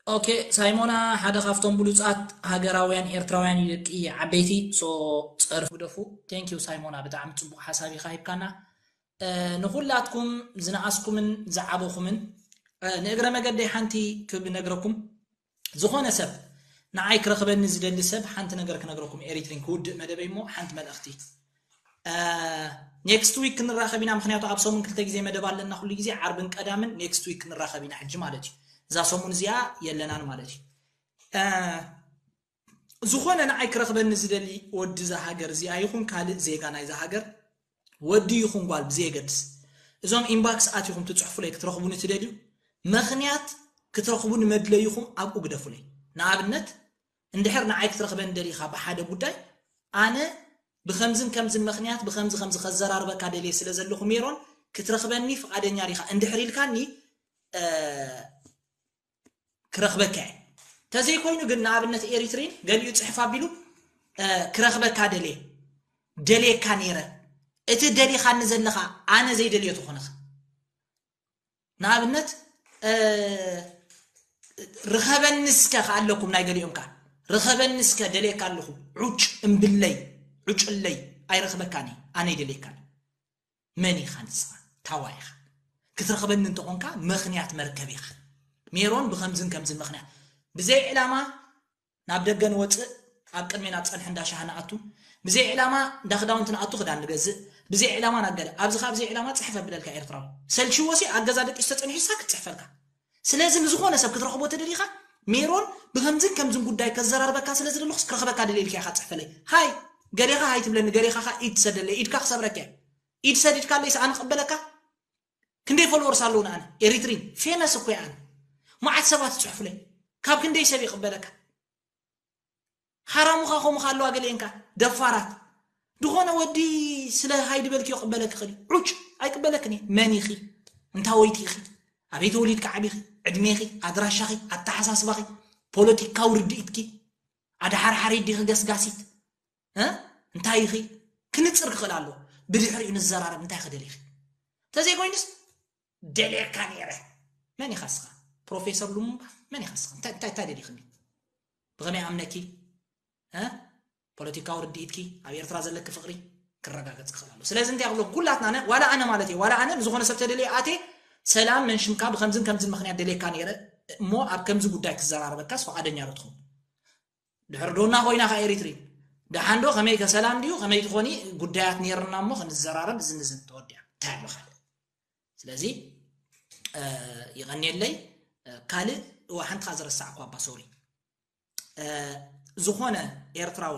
ኦኬ ሳይሞና ሓደ ካብቶም ብሉፃት ሃገራውያን ኤርትራውያን እዩ፣ ደቂ ዓበይቲ። ሶ ፀርፉ ግደፉ። ቴንኪዩ ሳይሞና፣ ብጣዕሚ ፅቡቅ ሓሳብ ኢኻ ሂብካና። ንኹላትኩም ዝነኣስኩምን ዝዓበኹምን፣ ንእግረ መገደይ ሓንቲ ክነግረኩም። ዝኾነ ሰብ ንዓይ ክረኽበኒ ዝደሊ ሰብ ሓንቲ ነገር ክነግረኩም፣ ኤሪትሪን ክውድእ መደበይ እሞ ሓንቲ መልእኽቲ። ኔክስት ዊክ ክንራኸብ ኢና፣ ምክንያቱ ኣብ ሰሙን ክልተ ግዜ መደብ ኣለና፣ ኩሉ ግዜ ዓርብን ቀዳምን። ኔክስት ዊክ ክንራኸብ ኢና ሕጂ ማለት እዩ። እዛ ሰሙን እዚኣ የለናን ማለት እዩ። ዝኾነ ንዓይ ክረኽበኒ ዝደሊ ወዲ እዛ ሃገር እዚኣ ይኹን ካልእ ዜጋ ናይዛ ሃገር፣ ወዲ ይኹን ጓል ብዘየገድስ፣ እዞም ኢንባክስ ኣቲኹም ትፅሕፉለይ ክትረኽቡኒ ትደልዩ፣ ምኽንያት ክትረኽቡኒ መድለይኹም ኣብኡ ግደፉለይ። ንኣብነት እንድሕር ንዓይ ክትረኽበኒ ደሊኻ ብሓደ ጉዳይ፣ ኣነ ብኸምዝን ከምዝን ምኽንያት ብኸምዚ ከምዚ ከዘራርበካ ደልየ ስለ ዘለኹ ሜሮን ክትረኽበኒ ፍቓደኛ ዲኻ እንድሕር ኢልካኒ፣ ክረኽበካ እየ። ተዘይኮይኑ ግን ንኣብነት ኤሪትሪን ገሊኡ ፅሕፍ ኣቢሉ ክረኽበካ ደልየ ደልየካ ነይረ፣ እቲ ደሊኻኒ ዘለኻ ኣነ ዘይደልዮ ተኾነኸ። ንኣብነት ርኸበኒ እስከ ከኣለኩም ናይ ገሊኦም ከኣ ርኸበኒ እስከ ደልየካ ኣለኹ፣ ዑጭ እምብለይ ዑጭለይ ኣይረኽበካኒ ኣነ ይደልየካኒ። መን ኢኻ ንስኻ? ታዋ ኢኻ? ክትረኽበኒ እንተኾንካ ምኽንያት መርከብ ኢኻ። ሜሮን ብኸምዝን ከምዝን ምኽንያት ብዘይ ዕላማ ናብ ደገ ንወፅእ፣ ኣብ ቅድሜና ዝፀንሐ እንዳ ሻሂ ንኣቱ፣ ብዘይ ዕላማ እንዳ ክዳውንቲ ንኣቱ፣ ክዳን ንገዝእ፣ ብዘይ ዕላማ ናብ ገለ ኣብዚ ካብ ብዘይ ዕላማ ፅሕፍ ኣብለልካ ኤርትራዊ ሰልችዎ ሲ ኣብ ገዛ ደቂሱ ተፀኒሑ ሳ ክትፅሕፈልካ። ስለዚ ንዝኾነ ሰብ ክትረኽቦ ተደሊኻ ሜሮን ብኸምዝን ከምዝን ጉዳይ ከዘራርበካ ስለ ዝደለኹስ ክረኽበካ ደልየ ኢልካ ኢኻ ፅሕፈለይ። ሃይ ገሌኻ ሃይ ትብለኒ፣ ገሌኻ ኢድ ትሰደለይ፣ ኢድካ ክሰብረካ እየ። ኢድ ሰዲድካ ኣለይስ ኣነ ክቕበለካ? ክንደይ ፎሎወርስ ኣለዉ ንኣነ ኤሪትሪን ፌመስ እኮ ኣነ። መዓት ሰባት ይፅሕፉለይ፣ ካብ ክንደይ ሰብ ይቕበለካ? ሓራሙኻ ከምኡ ኣለዋ ገሊኤንካ ደፋራት። ዝኾነ ወዲ ስለ ሃይ ድበልክዮ ቅበለክ ክእል ዑጭ ኣይቅበለክን እየ። መን ኢኺ? እንታወይቲ ኢኺ? ኣበይ ተወሊድካ ዓቢኺ? ዕድሜኺ፣ ኣድራሻኺ፣ ኣተሓሳስባኺ፣ ፖለቲካዊ ርድኢትኪ፣ ኣድሓርሓሪት ዲኺ ገስጋሲት? እ እንታይ ኢኺ? ክንፅር ክኽእል ኣለዎ። ብድሕሪኡ ንዘራረብ እንታይ ክደሊኺ? ተዘይኮይኑስ ደልየካ ነይረ። መን ኢኻ እስኻ? ፕሮፌሰር ሉሙምባ መን ኢኻ እስኻ? እንታይ እንታይ እንታይ ደሊኽኒ? ብኸመይ ኣምነኪ? እ ፖለቲካዊ ርድኢትኪ ኣብ ኤርትራ ዘለኪ ፍቕሪ ክረጋገጽ ክኽእል ኣሎ። ስለዚ እንታይ ክብለኩም ኩላትና ነ ዋላ ኣነ ማለት እየ ዋላ ኣነ ንዝኾነ ሰብ ተደልየ ኣትየ ሰላም መን ሽምካ ብከምዝን ከምዝን ምኽንያት ደልየካ ነይረ እሞ ኣብ ከምዚ ጉዳይ ክዘራረበካስ ፍቓደኛ ዶ ትኸውን? ድሕር ዶና ኮይና ከ ኤሪትሪ ደሓን ዶ ከመይ ከ ሰላም ድዩ ከመይ ትኾኒ ጉዳያት ነይርና እሞ ክንዘራረብ ዝንዝን ተወዲያ እንታይ ኣሎ ካልእ ስለዚ ይቐንየለይ ካልእ እዋ ሓንቲ ከ ዝረሳዕኳ እባ ሶሪ ዝኾነ ኤርትራዊ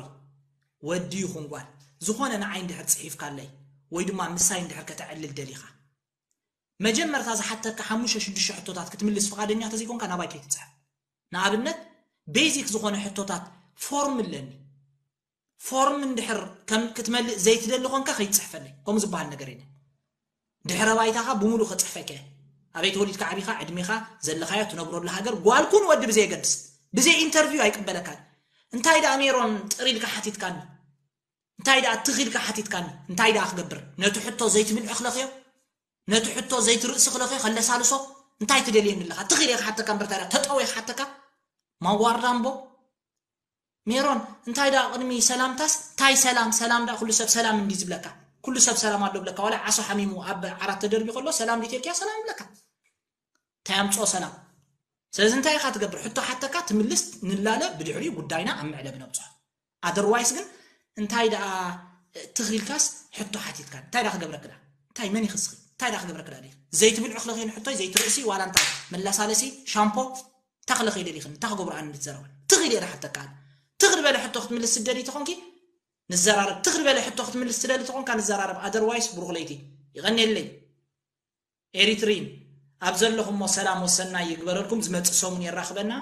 ወዲ ይኹን ጓል ዝኾነ ንዓይ እንድሕር ፅሒፍካለይ ወይ ድማ ምሳይ እንድሕር ከተዕልል ደሊኻ መጀመርታ ዝሓተካ ሓሙሽተ ሽዱሽተ ሕቶታት ክትምልስ ፍቓደኛ ተዘይኮንካ ናባይ ከይትፅሕፍ። ንኣብነት ቤዚክ ዝኾነ ሕቶታት ፎርም ኣለኒ። ፎርም እንድሕር ከም ክትመልእ ዘይትደሊ ኮንካ ከይትፅሕፈለይ። ከምኡ ዝበሃል ነገር የለን። ድሕረ ባይታኻ ብምሉእ ከፅሕፈካ እየ። ኣበይ ተወሊድካ ዓቢኻ፣ ዕድሜኻ፣ ዘለኻዮ፣ ትነብረሉ ሃገር፣ ጓል ኩን ወዲ ብዘየገድስ፣ ብዘይ ኢንተርቪው ኣይቅበለካን። እንታይ ደኣ ሜሮን ጥር ኢልካ ሓቲትካኒ? እንታይ ደኣ ትኽ ኢልካ ሓቲትካኒ? እንታይ ደኣ ክገብር? ነቲ ሕቶ ዘይትብል ዕኽለኽዮ፣ ነቲ ሕቶ ዘይትርእሲ ክለኽዮ፣ ከለሳልሶ፣ እንታይ ትደልየኒ ኣለኻ? ትኽ ኢለ ክሓተካ እምበር፣ እንታይ ደኣ ተጠወ ክሓተካ? ማዋርዳ እምቦ። ሜሮን፣ እንታይ ደኣ ቅድሚ ሰላምታስ፣ እንታይ ሰላም፣ ሰላም ደኣ ኩሉ ሰብ ሰላም እንዲ ዝብለካ? ኩሉ ሰብ ሰላም ኣሎ ብለካ? ዋላ ዓሶ ሓሚሙ ኣብ ዓራት ተደርቢ ከሎ ሰላም ዲተልክያ ሰላም ይብለካ። እንታይ ኣምጽኦ ሰላም? ስለዚ እንታይ ኢኻ ትገብር? ሕቶ ሓተካ ትምልስ፣ ንላለ፣ ብድሕሪኡ ጉዳይና ኣብ መዕለቢ ነብጽሖ። ኣደርዋይስ ግን እንታይ ደኣ ትኽኢልካስ ሕቶ ሓቲትካ እንታይ ደኣ ክገብረክዳ? እንታይ መን ይኽስኺ? እንታይ ደኣ ክገብረክዳ? ዘይትብል ዕኽለኺ ንሕቶይ ዘይትርእሲ ዋላ እንታይ መላሳለሲ ሻምፖ እንታይ ክለኺ ደሊኽን እንታይ ክገብሩ ኣነ ንትዘረበን ትኽእል እየ ሓተካ። ትኽል በለ ሕቶ ክትምልስ ትደሊ ተኾንኪ ንዘራረብ። ትኽል በለ ሕቶ ክትምልስ ትደሊ ተኾንካ ንዘራረብ። ኣደርዋይስ ብሩኽ ለይቲ ይቐንየለይ። ኤሪትሪን ኣብ ዘለኹሞ ሰላም ወሰናይ ይግበረልኩም። ዝመጽእ ሰሙን የራኽበና።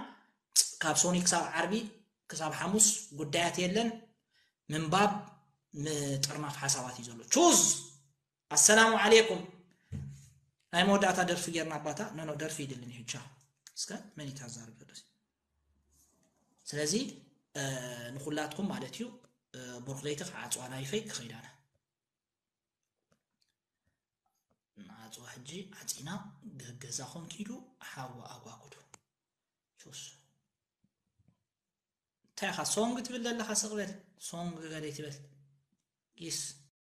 ካብ ሶኒ ክሳብ ዓርቢ ክሳብ ሓሙስ ጉዳያት የለን። ምንባብ ምጥርናፍ ሓሳባት እዩ ዘሎ። ቹዝ ኣሰላሙ ዓሌኩም። ናይ መወዳእታ ደርፊ ጌርና ኣባታ። ኖ ኖ፣ ደርፊ ይድልን እዩ። ቻው። እስከ መን ይታዛርብ ዘሎ? ስለዚ ንኹላትኩም ማለት እዩ። ብሩኽ ለይቲ ክዓጽዋ ላይፈይ ክኸይዳና። ንዓጽዋ ሕጂ ዓጺና። ገዛኹም ኪዱ ሓዊ ኣጓጉዱ። ቹስ። እንታይ ኢኻ ሶንግ ትብል ዘለኻ? ስቕ በል። ሶንግ ገለ ትበል። ጊስ።